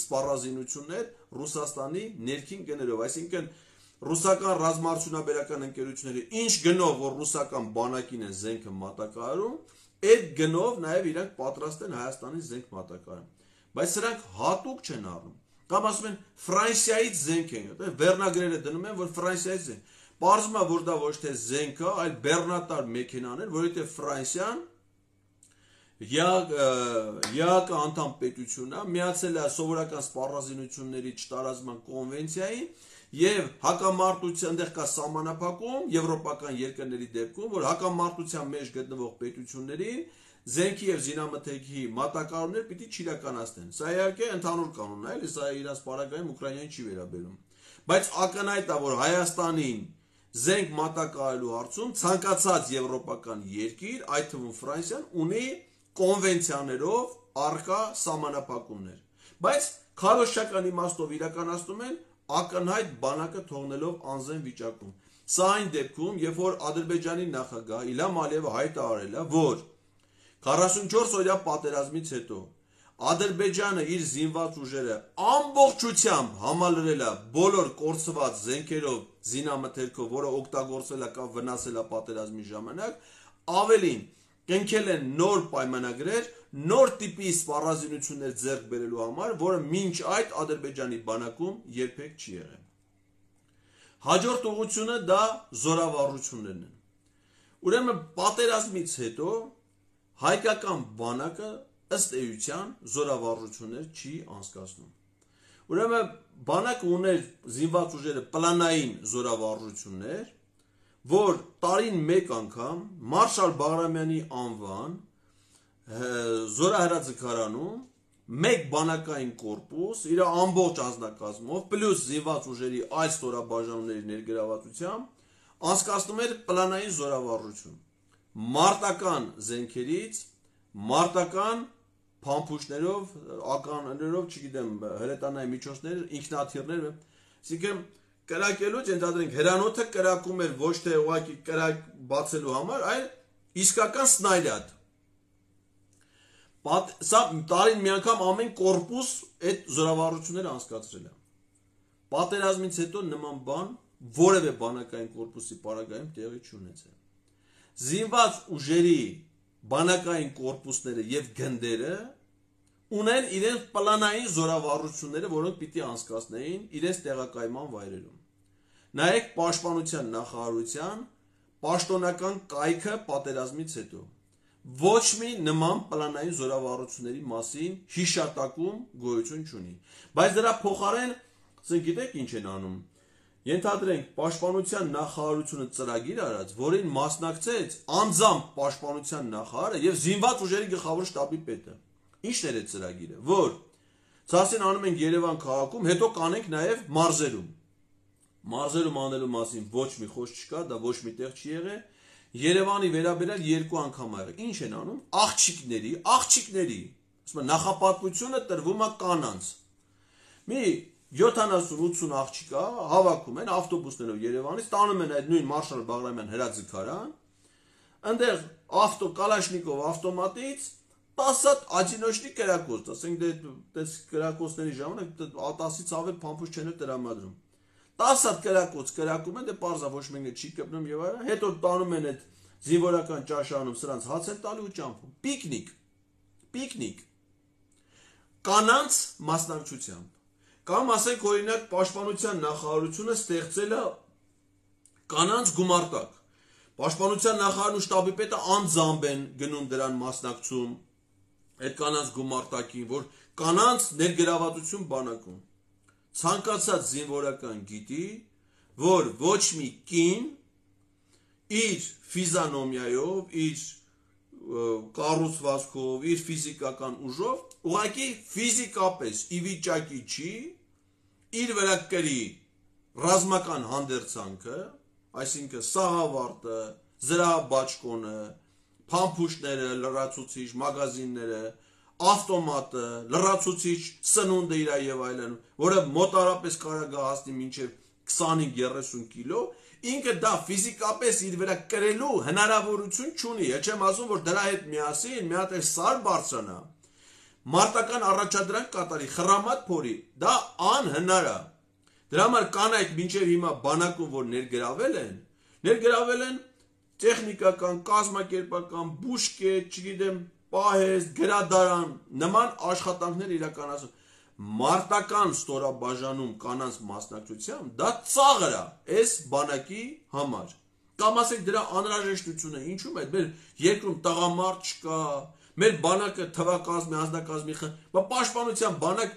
սպառազինություններ Ռուսաստանի ներքին գներով, այսինքն ռուսական ռազմաարդյունաբերական ընկերությունները ինչ գնով, որ ռուսական բանակին են զենքը մատակարարում, այդ գնով նաև իրանք պատրաստ են Հայաստանի զենք մատակարարեն։ Բայց սրանք հատուկ չեն առնում։ Կամ ասում են Ֆրանսիայից զենք են, վերնագրերը դնում են, որ Ֆրանսիայից զենք։ Պարզվում է, որ դա ոչ թե զենք է, այլ բեռնատար մեքենաներ, որովհետև Ֆրանսիան ԵԱԿ անդամ պետություն է, միացել է սովորական սպառազինությունների չտարածման կոնվենցիային եւ հակամարտության այնտեղ կա սահմանափակում եվրոպական երկրների դեպքում, որ հակամարտության մեջ գտնվող պետություններին զենքի եւ զինամթերքի մատակարարումներ պիտի չիրականացնեն։ Սա իհարկե ընդհանուր կանոն է, էլի սա իրաց պարագայում Ուկրաինային չի վերաբերում։ Բայց ակնհայտ է, որ Հայաստանին զենք մատակարարելու հարցում ցանկացած եվրոպական երկիր, այդ թվում Ֆրանսիան, ունի կոնվենցիաներով առկա սահմանափակումներ։ Բայց քարոզչական իմաստով իրականացնում են ակնհայտ բանակը թողնելով անզեն վիճակում։ Սա այն դեպքում, երբ որ Ադրբեջանի նախագահ Իլհամ Ալիևը հայտարարել է, որ 44 օրյա պատերազմից հետո Ադրբեջանը իր զինված ուժերը ամբողջությամբ համալրել է բոլոր կորցված զենքերով, զինամթերքով, որը օգտագործել է կամ վնասել է պատերազմի ժամանակ, ավելին կնքել են նոր պայմանագրեր, նոր տիպի սպառազինություններ ձեռք բերելու համար, որը մինչ այդ Ադրբեջանի բանակում երբեք չի եղել։ Հաջորդ ուղղությունը դա զորավարություններն են։ Ուրեմն պատերազմից հետո հայկական բանակը ըստ էության զորավարություններ չի անցկացնում։ Ուրեմն բանակը ուներ զինված ուժերը պլանային զորավարժություններ, որ տարին մեկ անգամ Մարշալ Բաղրամյանի անվան զորահրաձգարանում մեկ բանակային կորպուս իր ամբողջ անձնակազմով պլյուս զինված ուժերի այլ ստորաբաժանումների ներգրավվածությամբ անցկացնում էր պլանային զորավարժություն։ Մարտական զենքերից, մարտական փամփուշտներով, ականներով, չգիտեմ, հրետանային միջոցներ, ինքնաթիռներ, այսինքն կրակելու ենթադրենք հրանոթը կրակում էր ոչ թե ուղղակի կրակ բացելու համար, այլ իսկական սնայլյադ։ Սա տարին մի անգամ ամեն կորպուս այդ զորավարությունները անցկացրել է։ Պատերազմից հետո նման բան որևէ բանակային կորպուսի պարագայում տեղի չունեցել։ Զինված ուժերի բանակային կորպուսները եւ գնդերը ունեն իրենց պլանային զորավարությունները, որոնք պիտի անցկացնեին իրենց տեղակայման վայրերում։ Նայեք պաշտպանության նախարարության պաշտոնական կայքը պատերազմից հետո։ Ոչ մի նման պլանային զորավարությունների մասին հիշատակում գոյություն չունի։ Բայց դրա փոխարեն, ասենք գիտեք ինչ են անում։ Ենթադրենք պաշտպանության նախարարությունը ծրագիր արած, որին մասնակցեց անձամբ պաշտպանության նախարարը եւ զինված ուժերի գլխավոր շտաբի պետը։ Ինչն էր այդ ծրագիրը, որ ցասին անում ենք Երևան քաղաքում, հետո կանենք նաեւ մարզերում։ Մարզերում անելու մասին ոչ մի խոսք չկա, դա ոչ մի տեղ չի եղել։ Երևանի վերաբերյալ երկու անգամ ա եղել։ Ինչ են անում։ Աղջիկների, ասում են նախապատվությունը տրվում է կանանց։ Մի 70-80 աղջիկա հավաքում են ավտոբուսներով Երևանից, տանում են այդ նույն Մարշալ Բաղրամյան հրաձգարան, այնտեղ կալաշնիկով ավտոմատից 10 հատ աջինոչնի կրակոց, ասենք դες կրակոցների ժամանակ 10-ից ավել փամփուշտ չեն տրամադրում։ 10 հատ կրակոց կրակում են, դե պարզա ոչ մեկը չի կպնում եւ այլն, հետո տանում են այդ զինվորական ճաշարանում սրանց հաց են տալու ու ճամփում։ Պիկնիկ։ Կանանց մասնակցությամբ։ Կամ ասենք օրինակ պաշտպանության նախարարությունը ստեղծել է կանանց գումարտակ։ Պաշտպանության նախարարն ու շտաբի պետը անձամբ են գնում դրան մասնակցում այդ կանանց գումարտակին, որ կանանց ներգրավվածություն բանակում։ Ցանկացած զինվորական գիտի, որ ոչ մի կին իր ֆիզիոնոմիայով, իր կառուցվածքով, իր ֆիզիկական ուժով, ուղղակի ֆիզիկապես ի վիճակի չի իր վրա կրի ռազմական հանդերձանքը, այսինքն սաղավարտը, զրահաբաճկոնը, փամփուշտները, լրացուցիչ մագազինները, ավտոմատը, լրացուցիչ սնունդը իր եւ այլն, որը մոտարապես կարող է հասնի մինչեւ 25-30 կիլո, ինքը դա ֆիզիկապես իր վրա կրելու հնարավորություն չունի։ Չեմ ասում, որ դրա հետ միասին մի հատ սար բարձրանա, մարտական առաջադրանք կատարի, խրամատ փորի, դա անհնար է։ Դրա համար կանայք մինչև հիմա բանակում որ ներգրավել են տեխնիկական, կազմակերպական, բուժկետ, չգիտեմ, պահեստ, գրադարան, նման աշխատանքներ իրականացում։ Մարտական ստորաբաժանում կանանց մասնակցությամբ դա ծաղր է այս բանակի համար։ Կամ ասենք դրա անհրաժեշտությունը ինչու՞մ է, մեր երկրում տղամարդ չկա, մեր բանակը թվակազմի, անձնակազմի պաշտպանության բանակ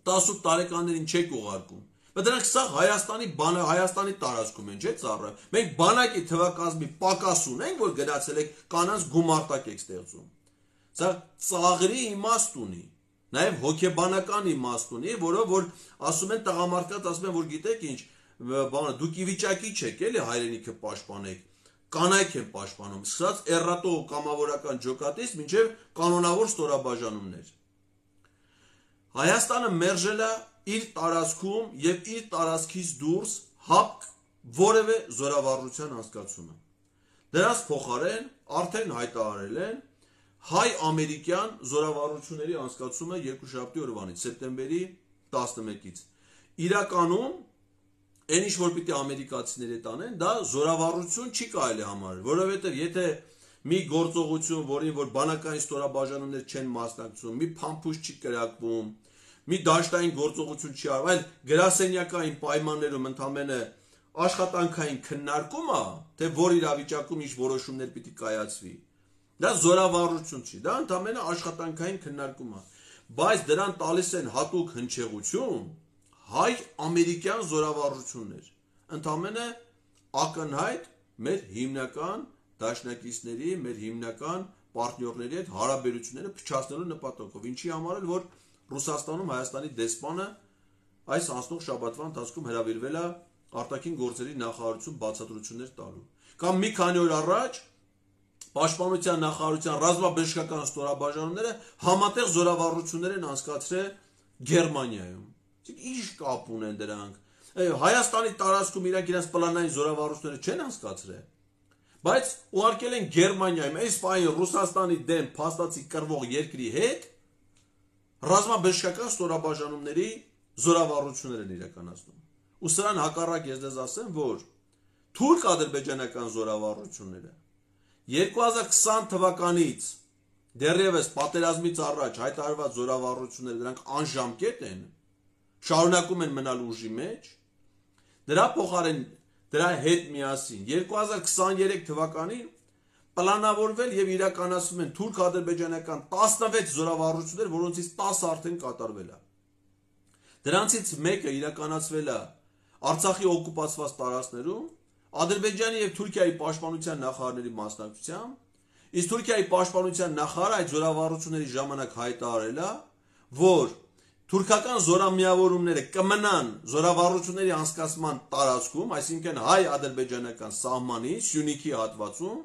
18 տարեկաններին չեք ուղարկում։ Բայց դրանք սա Հայաստանի տարածքում են, չէ՞ ծառը։ Մենք բանակի թվակազմի պակաս ունենք, որ գնացել եք կանանց գումարտակ եք ստեղծում։ Սա ծաղրի իմաստ ունի, նաև հոգեբանական իմաստ ունի, որով որ ասում են տղամարդկանց, ասում են, որ գիտեք ինչ, դուք ի վիճակի չեք, էլի հայրենիքը պաշտպանեք, կանայք են պաշտպանում, սկսած էռատո կամավորական ջոկատից մինչև կանոնավոր ստորաբաժանումներ։ Հայաստանը մերժել է իր տարածքում եւ իր տարածքից դուրս հապկ որևէ զորավարժության անցկացումը։ Դրանց փոխարեն արդեն հայտարարել են հայ-ամերիկյան զորավարժությունների անցկացումը երկուշաբթի օրվանից, սեպտեմբերի 11-ից։ Իրականում այն ինչ որ պիտի ամերիկացիները տանեն, դա զորավարժություն չի կարելի համարել, որովհետեւ եթե մի գործողություն, որին որ բանակային ստորաբաժանումներ չեն մասնակցում, մի փամփուշտ չի կրակվում, մի դաշտային գործողություն չի արվում, այլ գրասենյակային պայմաններում ընդամենը աշխատանքային քննարկումը, թե որ իրավիճակում ինչ որոշումներ պիտի կայացվի, դա զորավարություն չի, դա ընդամենը աշխատանքային քննարկում է, բայց դրան տալիս են հատուկ հնչեղություն հայ-ամերիկյան զորավարություններ, ընդամենը ակնհայտ մեր հիմնական դաշնակիցների, մեր հիմնական պարտներների հետ հարաբերությունները փչացնելու նպատակով, ինչի համար էլ որ Ռուսաստանում Հայաստանի դեսպանը այս անցնող շաբաթվա ընթացքում հրավիրվել է արտաքին գործերի նախարարություն բացատրություններ տալու։ Կամ մի քանի օր առաջ Պաշտպանության նախարարության ռազմաբժշկական ստորաբաժանումները համատեղ զորավարություններ են անցկացրել Գերմանիայում։ Ինչ կապ ունեն դրանք։ Հայաստանի տարածքում իրանք իրենց պլանային զորավարությունները չեն անցկացրել, բայց ուղարկել են Գերմանիայում, այս պահին Ռուսաստանի դեմ փաստացի կռվող երկրի հետ ռազմաբժշկական ստորաբաժանումների զորավարություններ են իրականացնում։ Ու սրան հակառակ ես դες ասեմ, որ թուրք-ադրբեջանական զորավարությունները 2020 թվականից դեռևս պատերազմից առաջ հայտարարված զորավարությունները դրանք անժամկետ են, շարունակում են մնալ ուժի մեջ, դրա փոխարեն դրա հետ միասին 2023 թվականին պլանավորվել եւ իրականացվում են թուրք-ադրբեջանական 16 զորավարություններ, որոնցից 10 արդեն կատարվել է։ Դրանցից մեկը իրականացվել է Արցախի օկուպացված տարածքներում Ադրբեջանի եւ Թուրքիայի պաշտպանության նախարարների մասնակցությամբ, իսկ Թուրքիայի պաշտպանության նախարարը այդ զորավարությունների ժամանակ հայտարարել է, որ թուրքական զորամիավորումները կմնան զորավարությունների անցկացման տարածքում, այսինքն հայ-ադրբեջանական սահմանի Սյունիքի հատվածում,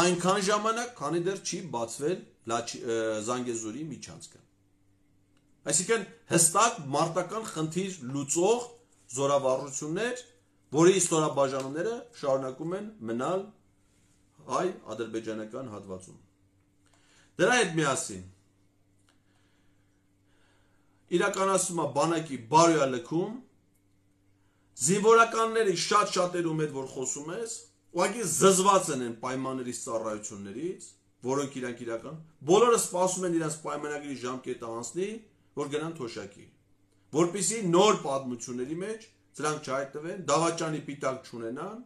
այնքան ժամանակ, քանի դեռ չի բացվել Զանգեզուրի միջանցքը։ Այսինքն հստակ մարտական խնդիր լուծող զորավարություններ, որի ստորաբաժանումները շարունակում են մնալ հայ-ադրբեջանական հատվածում։ Դրա հետ միասին իրականացում է բանակի բարոյալքում, զինվորականների շատ-շատերում հետ որ խոսում ես, ուղղակի զզված են այն պայմաններից ծառայություններից, որոնք իրանք իրական, բոլորը սպասում են իրենց պայմանագրի ժամկետը անցնի, որ գնան թոշակի, որպեսզի նոր պատմությունների մեջ սրանք չհայտնվեն, դավաճանի պիտակ չունենան,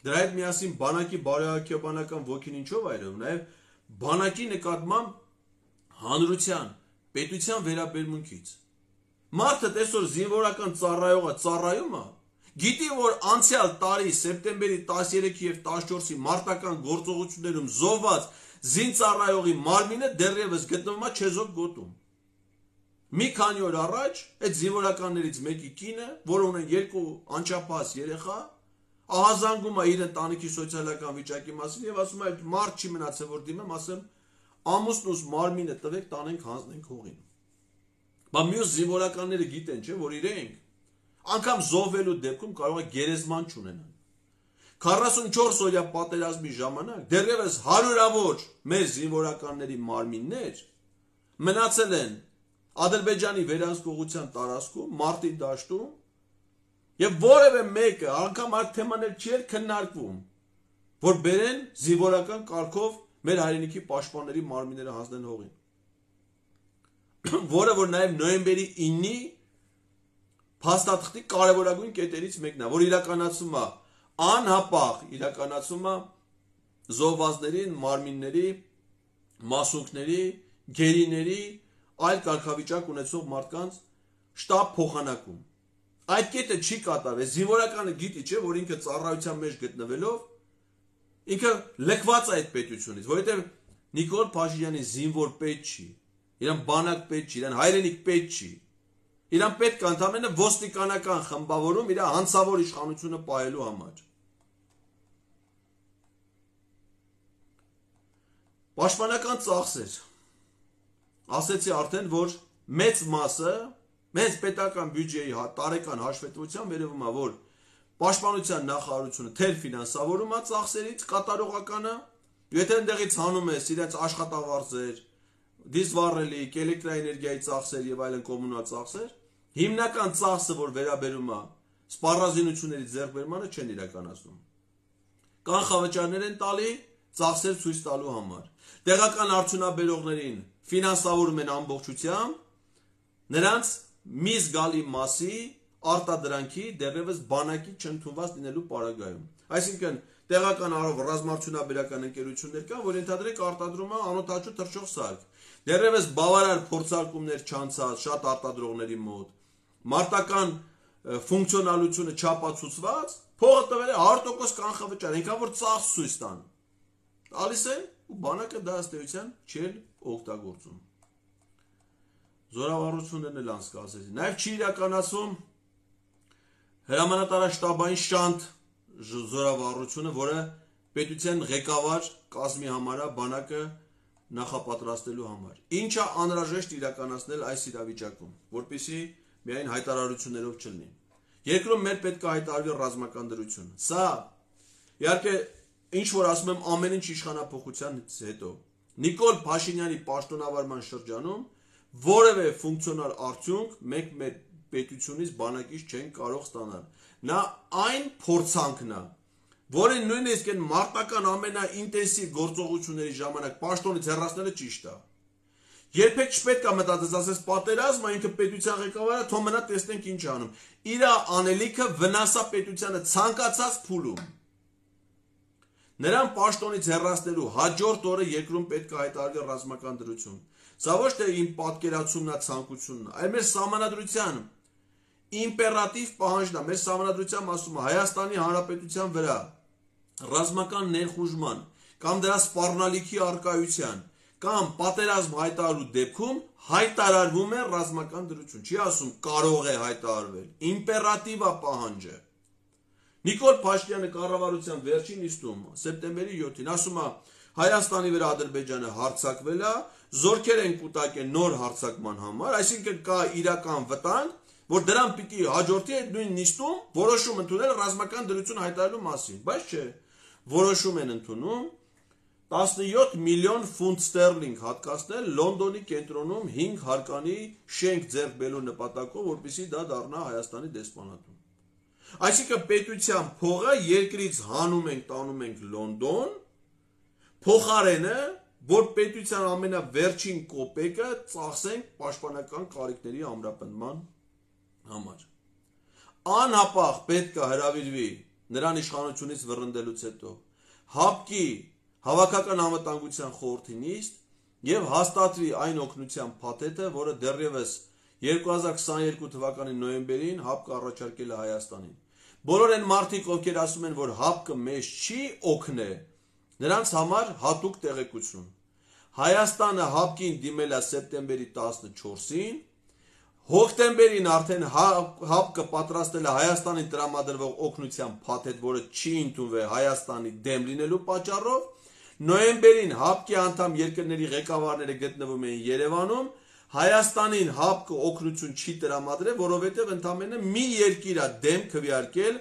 դրա հետ միասին բանակի բարոյաքեբանական ոգին ինչով այրում, նաև բանակի նկատմամբ հանրության, պետության վերաբերմունքից։ Մարդը տեսօր զինվորական ծառայողը ծառայում է, գիտի որ անցյալ տարի սեպտեմբերի 13 եւ 14-ի մարտական գործողություններում զոհված զինծառայողի մարմինը դեռևս գտնվում է Չեզոք գոտում։ Մի քանի օր առաջ այդ զինվորականներից մեկի կինը, որը ունեն 2 անչափահաս երեխա, ահազանգում է իր ընտանիքի սոցիալական վիճակի մասին եւ ասում է մարդ չի մնացել որ դիմեմ, ասեմ ամուսնուս մարմինը տվեք տանենք հանձնենք հողին։ Բա մյուս զինվորականները գիտեն, չէ, որ իրենք անգամ զոհվելու դեպքում կարող է գերեզման չունենան։ 44 օրյա պատերազմի ժամանակ դեռևս հարյուրավոր մեր զինվորականների մարմիններ մնացել են Ադրբեջանի վերահսկողության տարածքում, մարտի դաշտում, եւ որևէ մեկը անգամ այդ թեմաներ չի քննարկվում, որ բերեն զինվորական կարգով մեր հայրենիքի պաշտպանների մարմինները հանձնեն հողին։ Որը որ նաեւ նոյեմբերի 9-ի փաստաթղթի կարևորագույն կետերից մեկն է, որ իրականացում է անհապաղ իրականացում է զոհվածներին, մարմինների, մասունքների, գերիների, այլ կարգավիճակ ունեցող մարդկանց շտապ փոխանակում։ Այդ կետը չի կատարվել, զինվորականը գիտի, չէ, որ ինքը ծառայության մեջ գտնվելով ինքը լքված է այդ պետությունից, որովհետև Նիկոլ Փաշինյանի զինվոր պետ չի, իրան բանակ պետ չի, իրան հայրենիք պետ չի, իրան պետք է ընդամենը ոստիկանական խմբավորում իր հանցավոր իշխանությունը պահելու համար։ Պաշտպանական ծախսեր։ Ասեցի արդեն, որ մեծ մասը, մեծ պետական բյուջեի տարեկան հաշվետվությամբ երևում է, որ պաշտպանության նախարարությունը թեր ֆինանսավորում է ծախսերից կատարողականը, եթե այնտեղից հանում ես իրենց աշխատավարձեր, դիզվառելիք, էլեկտրաէներգիայի ծախսեր եւ այլն կոմունալ ծախսեր, հիմնական ծախսը, որ վերաբերում է սպառազինությունների ձեռքբերմանը, չեն իրականացնում։ Կանխավճարներ են տալի ծախսեր ցույց տալու համար։ Տեղական արդյունաբերողներին ֆինանսավորում են ամբողջությամբ, նրանց մի զգալի մասի արտադրանքի դեռևս բանակի չընդունված լինելու պարագայում։ Այսինքն տեղական արով ռազմարտությունաբերական ընկերություններ կան, որ ենթադրենք արտադրում է անօդաչու թռչող սարք։ Դեռևս բավարար փորձարկումներ չանցած շատ արտադրողների մոտ, մարտական ֆունկցիոնալությունը չապացուցված, փողը տվել է 100% կանխավճար, այնքան որ ծախս ցույց տան։ Տալիս են ու բանակը դա ըստ էության չէ օգտագործում։ Զորավարություններն էլ անցկացրեցին։ Նաև չի իրականացվում հրամանատարաշտաբային շանտ զորավարությունը, որը պետության ղեկավար կազմի համար է բանակը նախապատրաստելու համար։ Ինչը անհրաժեշտ իրականացնել այս իրավիճակում, որպեսզի միայն հայտարարություններով չլինի։ Երկրում մեր պետք է հայտարարվի ռազմական դրություն։ Սա իհարկե ինչ որ ասում եմ ամեն ինչ իշխանափոխությանից հետո Նիկոլ Փաշինյանի պաշտոնավարման շրջանում որևէ ֆունկցիոնալ արդյունք մենք մեր պետությունից բանակից չեն կարող ստանալ։ Նա այն փորձանքն է, որը նույնիսկ այն մարտական ամենաինտենսիվ գործողությունների ժամանակ պաշտոնից հեռացնելը ճիշտ է։ Երբեք չպետք է մտածես, ասես պատերազմը ինքը պետության ղեկավարը, թող մնա տեսնենք ինչ անում։ Իր անելիքը վնասա պետությանը ցանկացած փուլում։ Նրան պաշտոնից հեռացնելու հաջորդ օրը երկրում պետք է հայտարարվի ռազմական դրություն։ Սա ոչ թե իմ պատկերացումն է, ցանկությունն է, այլ մեր սահմանադրության իմպերատիվ պահանջն է, մեր սահմանադրությամբ ասում է Հայաստանի Հանրապետության վրա ռազմական ներխուժման կամ դրա սպառնալիքի առկայության կամ պատերազմ հայտարարելու դեպքում հայտարարվում է ռազմական դրություն։ Չի ասում կարող է հայտարարվել, իմպերատիվ է պահանջը։ Նիկոլ Փաշինյանը կառավարության վերջին նիստում սեպտեմբերի 7-ին ասում է Հայաստանի վրա Ադրբեջանը հարձակվել է, զորքեր են կուտակել նոր հարձակման համար, այսինքն կա իրական վտանգ, որ դրան պիտի հաջորդի այդ նույն նիստում որոշում ընդունել ռազմական դրություն հայտարարելու մասին, բայց չէ, որոշում են ընդունում 17 միլիոն ֆունտ ստերլինգ հատկացնել Լոնդոնի կենտրոնում 5 հարկանի շենք ձեռք բերելու նպատակով, որպեսզի դա դառնա Հայաստանի դեսպանատուն։ Այսինքն պետության փողը երկրից հանում ենք, տանում ենք Լոնդոն, փոխարենը, որ պետության ամենավերջին կոպեկը ծախսենք պաշտպանական կարիքների ամրապնդման համար։ Անհապաղ պետք է հրավիրվի նրան իշխանությունից վռնդելուց հետո ՀԱՊԿ-ի Հավաքական անվտանգության խորհրդի նիստ եւ հաստատվի այն օգնության փաթեթը, որը դեռևս 2022 թվականի նոյեմբերին ՀԱՊԿ-ը առաջարկել է Հայաստանին։ Բոլոր այն մարդիկ, ովքեր ասում են, որ ՀԱՊԿ-ը մեզ չի օգնե, նրանց համար հատուկ տեղեկություն։ Հայաստանը ՀԱՊԿ-ին դիմել է սեպտեմբերի 14-ին, հոկտեմբերին արդեն ՀԱՊԿ-ը պատրաստել է Հայաստանին տրամադրվող օգնության փաթեթ, որը չի ընդունվել Հայաստանի դեմ լինելու պատճառով, նոյեմբերին ՀԱՊԿ-ի անդամ երկրների ղեկավարները գտնվում էին Երևանում, Հայաստանին ՀԱՊԿ-ը օգնություն չի տրամադրել, որովհետև ընդամենը մի երկիր է դեմ քվեարկել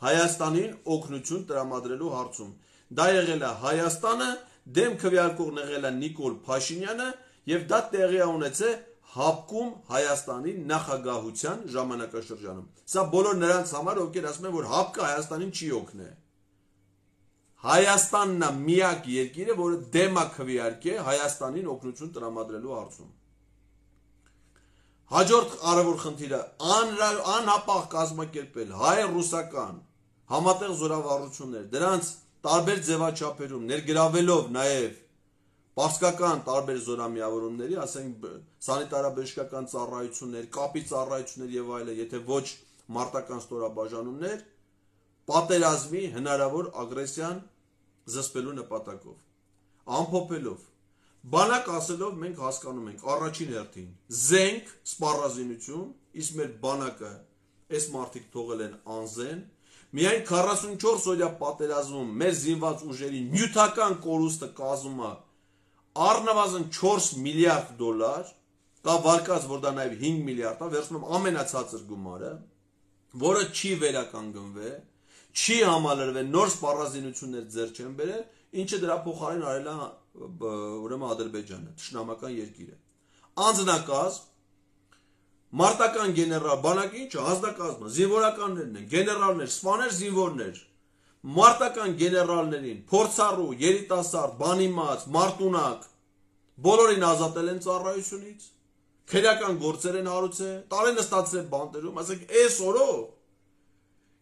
Հայաստանին օգնություն տրամադրելու հարցում։ Դա եղել է Հայաստանը, դեմ քվեարկողն եղել է Նիկոլ Փաշինյանը, եւ դա տեղի է ունեցել ՀԱՊԿ-ում Հայաստանի նախագահության ժամանակաշրջանում։ Սա բոլոր նրանց համար, ովքեր ասում են, որ ՀԱՊԿ-ը Հայաստանին չի օգնե։ Հայաստանն է միակ երկիրը, որը դեմ է քվեարկել Հայաստանին օգնություն տրամադրելու հարցում։ Հաջորդ կարևոր խնդիրը անհապաղ կազմակերպել հայ-ռուսական համատեղ զորավարություններ, դրանց տարբեր ձևաչափերում ներգրավելով նաև պարսկական տարբեր զորամիավորումների, ասենք սանիտարաբժշկական ծառայություններ, կապի ծառայություններ եւ այլն, եթե ոչ մարտական ստորաբաժանումներ, պատերազմի հնարավոր ագրեսիան զսպելու նպատակով, ամփոփելով, բանակ ասելով մենք հասկանում ենք առաջին հերթին զենք, սպառազինություն, իսկ մեր բանակը այս մարդիկ թողել են անզեն, միայն 44 օրյա պատերազմում մեր զինված ուժերի նյութական կորուստը կազմում է առնվազն 4 միլիարդ դոլար, կա վարկած, որ դա նաև 5 միլիարդ է, վերցնում ամենացածր գումարը, որը չի վերականգնվել, չի համալրվել, նոր սպառազինություններ ձեռք չեն բերել, ինչը դրա փոխարեն արել է ուրեմն Ադրբեջանը, թշնամական երկիրը։ Անձնակազմ, մարտական գեներալ, բանակի ինչը, ազնագազմը, զինվորականներն են, գեներալներ, սպաներ, զինվորներ, մարտական գեներալներին, փորձառու, երիտասարդ, բանիմաց, մարտունակ, բոլորին ազատել են ծառայությունից, քրեական գործեր են հարուցել, տարեն ստացել բանտերում, ասենք այս օրով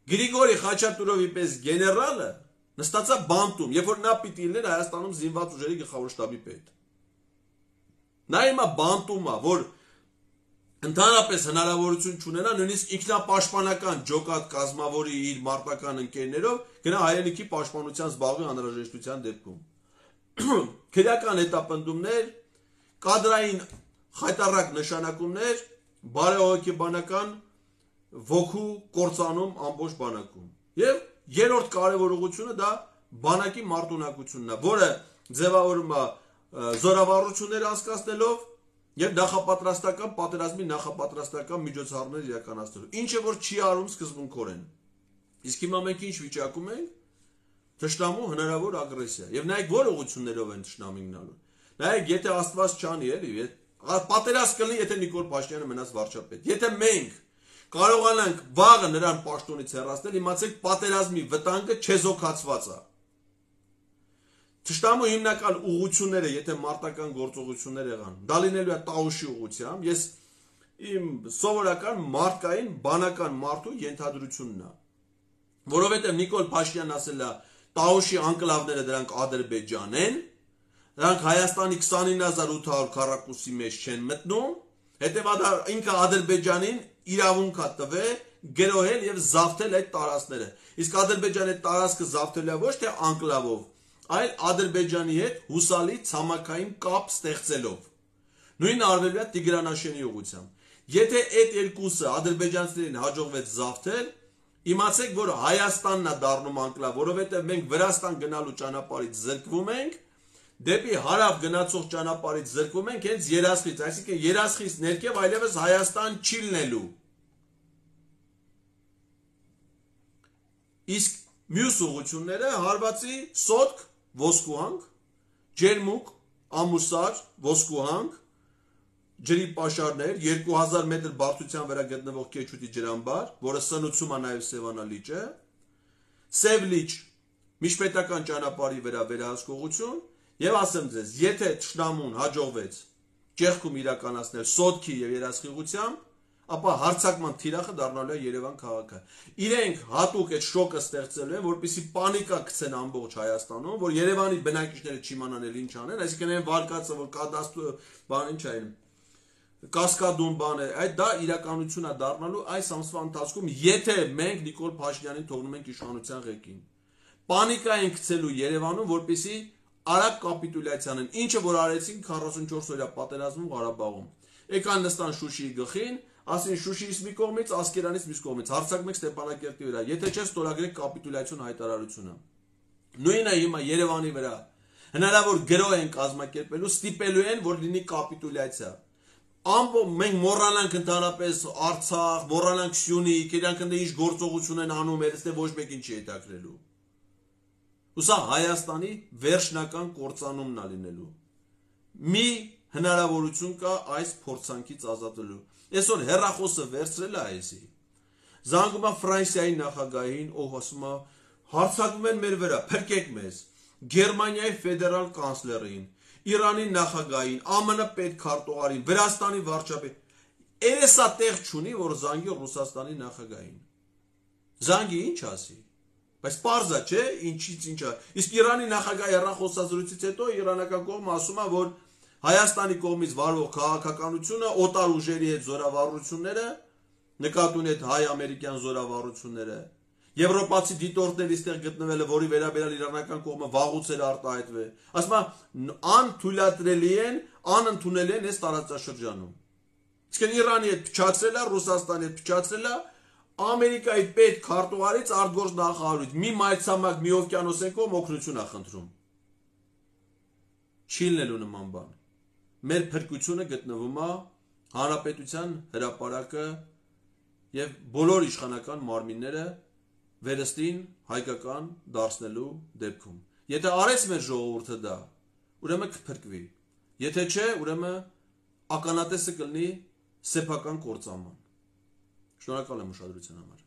Գրիգորի Խաչատուրովի պես գեներալը նստածա բանտում, երբ որ նա պիտի լիներ Հայաստանում զինված ուժերի գլխավոր շտաբի պետ։ Նա հիմա բանտում է, որ ընդհանրապես հնարավորություն չունենա նույնիսկ ինքնապաշտպանական ջոկատ կազմավորի իր մարտական ընկերներով գնա հայրենիքի պաշտպանության զբաղվի անհրաժեշտության դեպքում։ Քրեական հետապնդումներ, կադրային խայտառակ նշանակումներ, բարեհոգեբանական ոգու կործանում ամբողջ բանակում։ Եվ երրորդ կարևոր ուղղությունը դա բանակի մարտունակությունն է, որը ձևավորում է զորավարություններ անցկացնելով եւ նախապատրաստական պատերազմի նախապատրաստական միջոցառումներ իրականացնելու, ինչը որ չի արում սկզբունքորեն։ Իսկ հիմա մենք ինչ վիճակում ենք, թշնամու հնարավոր ագրեսիա։ Եվ նայեք որ ուղղություններով են թշնամին գնալու։ Նայեք, եթե Աստված չանի, էլի, պատերազմ կլինի, եթե Նիկոլ Փաշինյանը մնաց վարչապետ։ Եթե մենք կարողանանք վաղը նրան պաշտոնից հեռացնել, իմացեք պատերազմի վտանգը չեզոքացված է։ Թշնամու հիմնական ուղղությունները, եթե մարտական գործողություններ եղան, դա լինելու է Տաուշի ուղղությամբ, ես իմ սովորական մարդկային բանական մարդու ենթադրությունն է, որովհետև Նիկոլ Փաշինյանն ասել է Տաուշի անկլավները դրանք Ադրբեջան են, դրանք Հայաստանի 29800 քառակուսի մեջ չեն մտնում, հետևաբար ինքը Ադրբեջանին իրավունք է տվել գրոհել եւ զավթել այդ տարածքները։ Իսկ Ադրբեջանի տարածքը զավթելը ոչ թե անկլավով, այլ Ադրբեջանի հետ հուսալի ցամաքային կապ ստեղծելով։ Նույնը արվելու է Տիգրանաշենի ուղղությամբ։ Եթե այդ երկուսը ադրբեջանցիներին հաջողվեց զավթել, իմացեք, որ Հայաստանն է դառնում անկլավ, որովհետև մենք Վրաստան գնալու ճանապարհից զրկվում ենք, դեպի հարավ գնացող ճանապարհից զրկվում ենք հենց Երասխից, այսինքն Երասխից ներքև այլևս Հայաստան չի լինելու։ Իսկ մյուս ուղղությունները հարվածի Սոտք, Ոսկուհանք, Ջերմուկ, Ամուսար, Ոսկուհանք, ջրի պաշարներ, 2000 մետր բարձրության վրա գտնվող Քեչուտի ջրամբար, որը սնուցում է նաև Սևանա լիճը, Սև լիճ, միջպետական ճանապարհի վրա վերահսկողություն, եւ ասեմ ձեզ, եթե թշնամուն հաջողվեց ճեղքում իրականացնել Սոտքի եւ Երասխի ուղղությամբ, ապա հարցակման թիրախը դառնալու է Երևան քաղաքը։ Իրենք հատուկ այդ շոկը ստեղծելու են, որպեսզի պանիկա գցեն ամբողջ Հայաստանում, որ Երևանի բնակիչները չիմանան էլ ինչ անեն, այսինքն այն վարկածը, որ կադաստրո բան ինչ այն կասկադում բան է, այդ դա իրականություն է դառնալու այս ամսվա ընթացքում, եթե մենք Նիկոլ Փաշինյանին թողնում ենք իշխանության ղեկին։ Պանիկա են գցելու Երևանում, որպեսզի արագ կապիտուլյացիան են, ինչը որ արեցին 44 օրյա պատերազմում Ղարաբաղում։ Եկան նստան Շուշիի գլխին, ասին Շուշիից մի կողմից, Ասկերանից մյուս կողմից, հարձակում եք Ստեփանակերտի վրա, եթե չէ ստորագրեք կապիտուլյացիոն հայտարարությունը։ Նույնը հիմա Երևանի վրա հնարավոր գրոհ են կազմակերպելու, ստիպելու են, որ լինի կապիտուլյացիա։ Մենք մոռանանք ընդհանրապես Արցախ, մոռանանք Սյունիք, իրանք ընդ ինչ գործողություն են անում, այստեղ ոչ մեկին չի հետաքրելու։ Ու սա Հայաստանի վերջնական կործանումն է լինելու։ Մի հնարավորություն կա այս փորձանքից ազատելու։ Այսօր հեռախոսը վերցրել է այսի։ Զանգում է Ֆրանսիայի նախագահին, ով ասում է հարձակվում են մեր վրա, փրկեք մեզ։ Գերմանիայի ֆեդերալ կանցլերին, Իրանի նախագահին, ԱՄՆ պետքարտուղարին, Վրաստանի վարչապետ։ Էսա տեղ չունի, որ զանգի Ռուսաստանի նախագահին։ Զանգի ինչ ասի։ Բայց պարզա չէ, ինչից ինչա։ Իսկ Իրանի նախագահի հեռախոսազրույցից հետո իրանական կողմը ասում է, որ Հայաստանի կողմից վարվող քաղաքականությունը, օտար ուժերի հետ զորավարությունները, նկատի ունի հայ-ամերիկյան զորավարությունները, եվրոպացի դիտորդների ստեղ գտնվելը, որի վերաբերյալ իրանական կողմը վաղուց էր արտահայտվել, ասում է անթույլատրելի են, անընդունելի են այս տարածաշրջանում։ Իսկ Իրանի հետ փչացրել է, Ռուսաստանի հետ փչացրել է, Ամերիկայի պետքարտուղարից արտգործ նախարարից մի մայրցամաք, մի օվկիանոսեն կողմ օգնություն է խնդրում։ Չի լինելու նման բան։ Մեր փրկությունը գտնվում է հանրապետության հրապարակը եւ բոլոր իշխանական մարմինները վերստին հայկական դարձնելու դեպքում։ Եթե արեց մեր ժողովուրդը դա, ուրեմն կփրկվի։ Եթե չէ, ուրեմն ականատեսը կլինի սեփական կործանման։ Շնորհակալ եմ ուշադրության համար։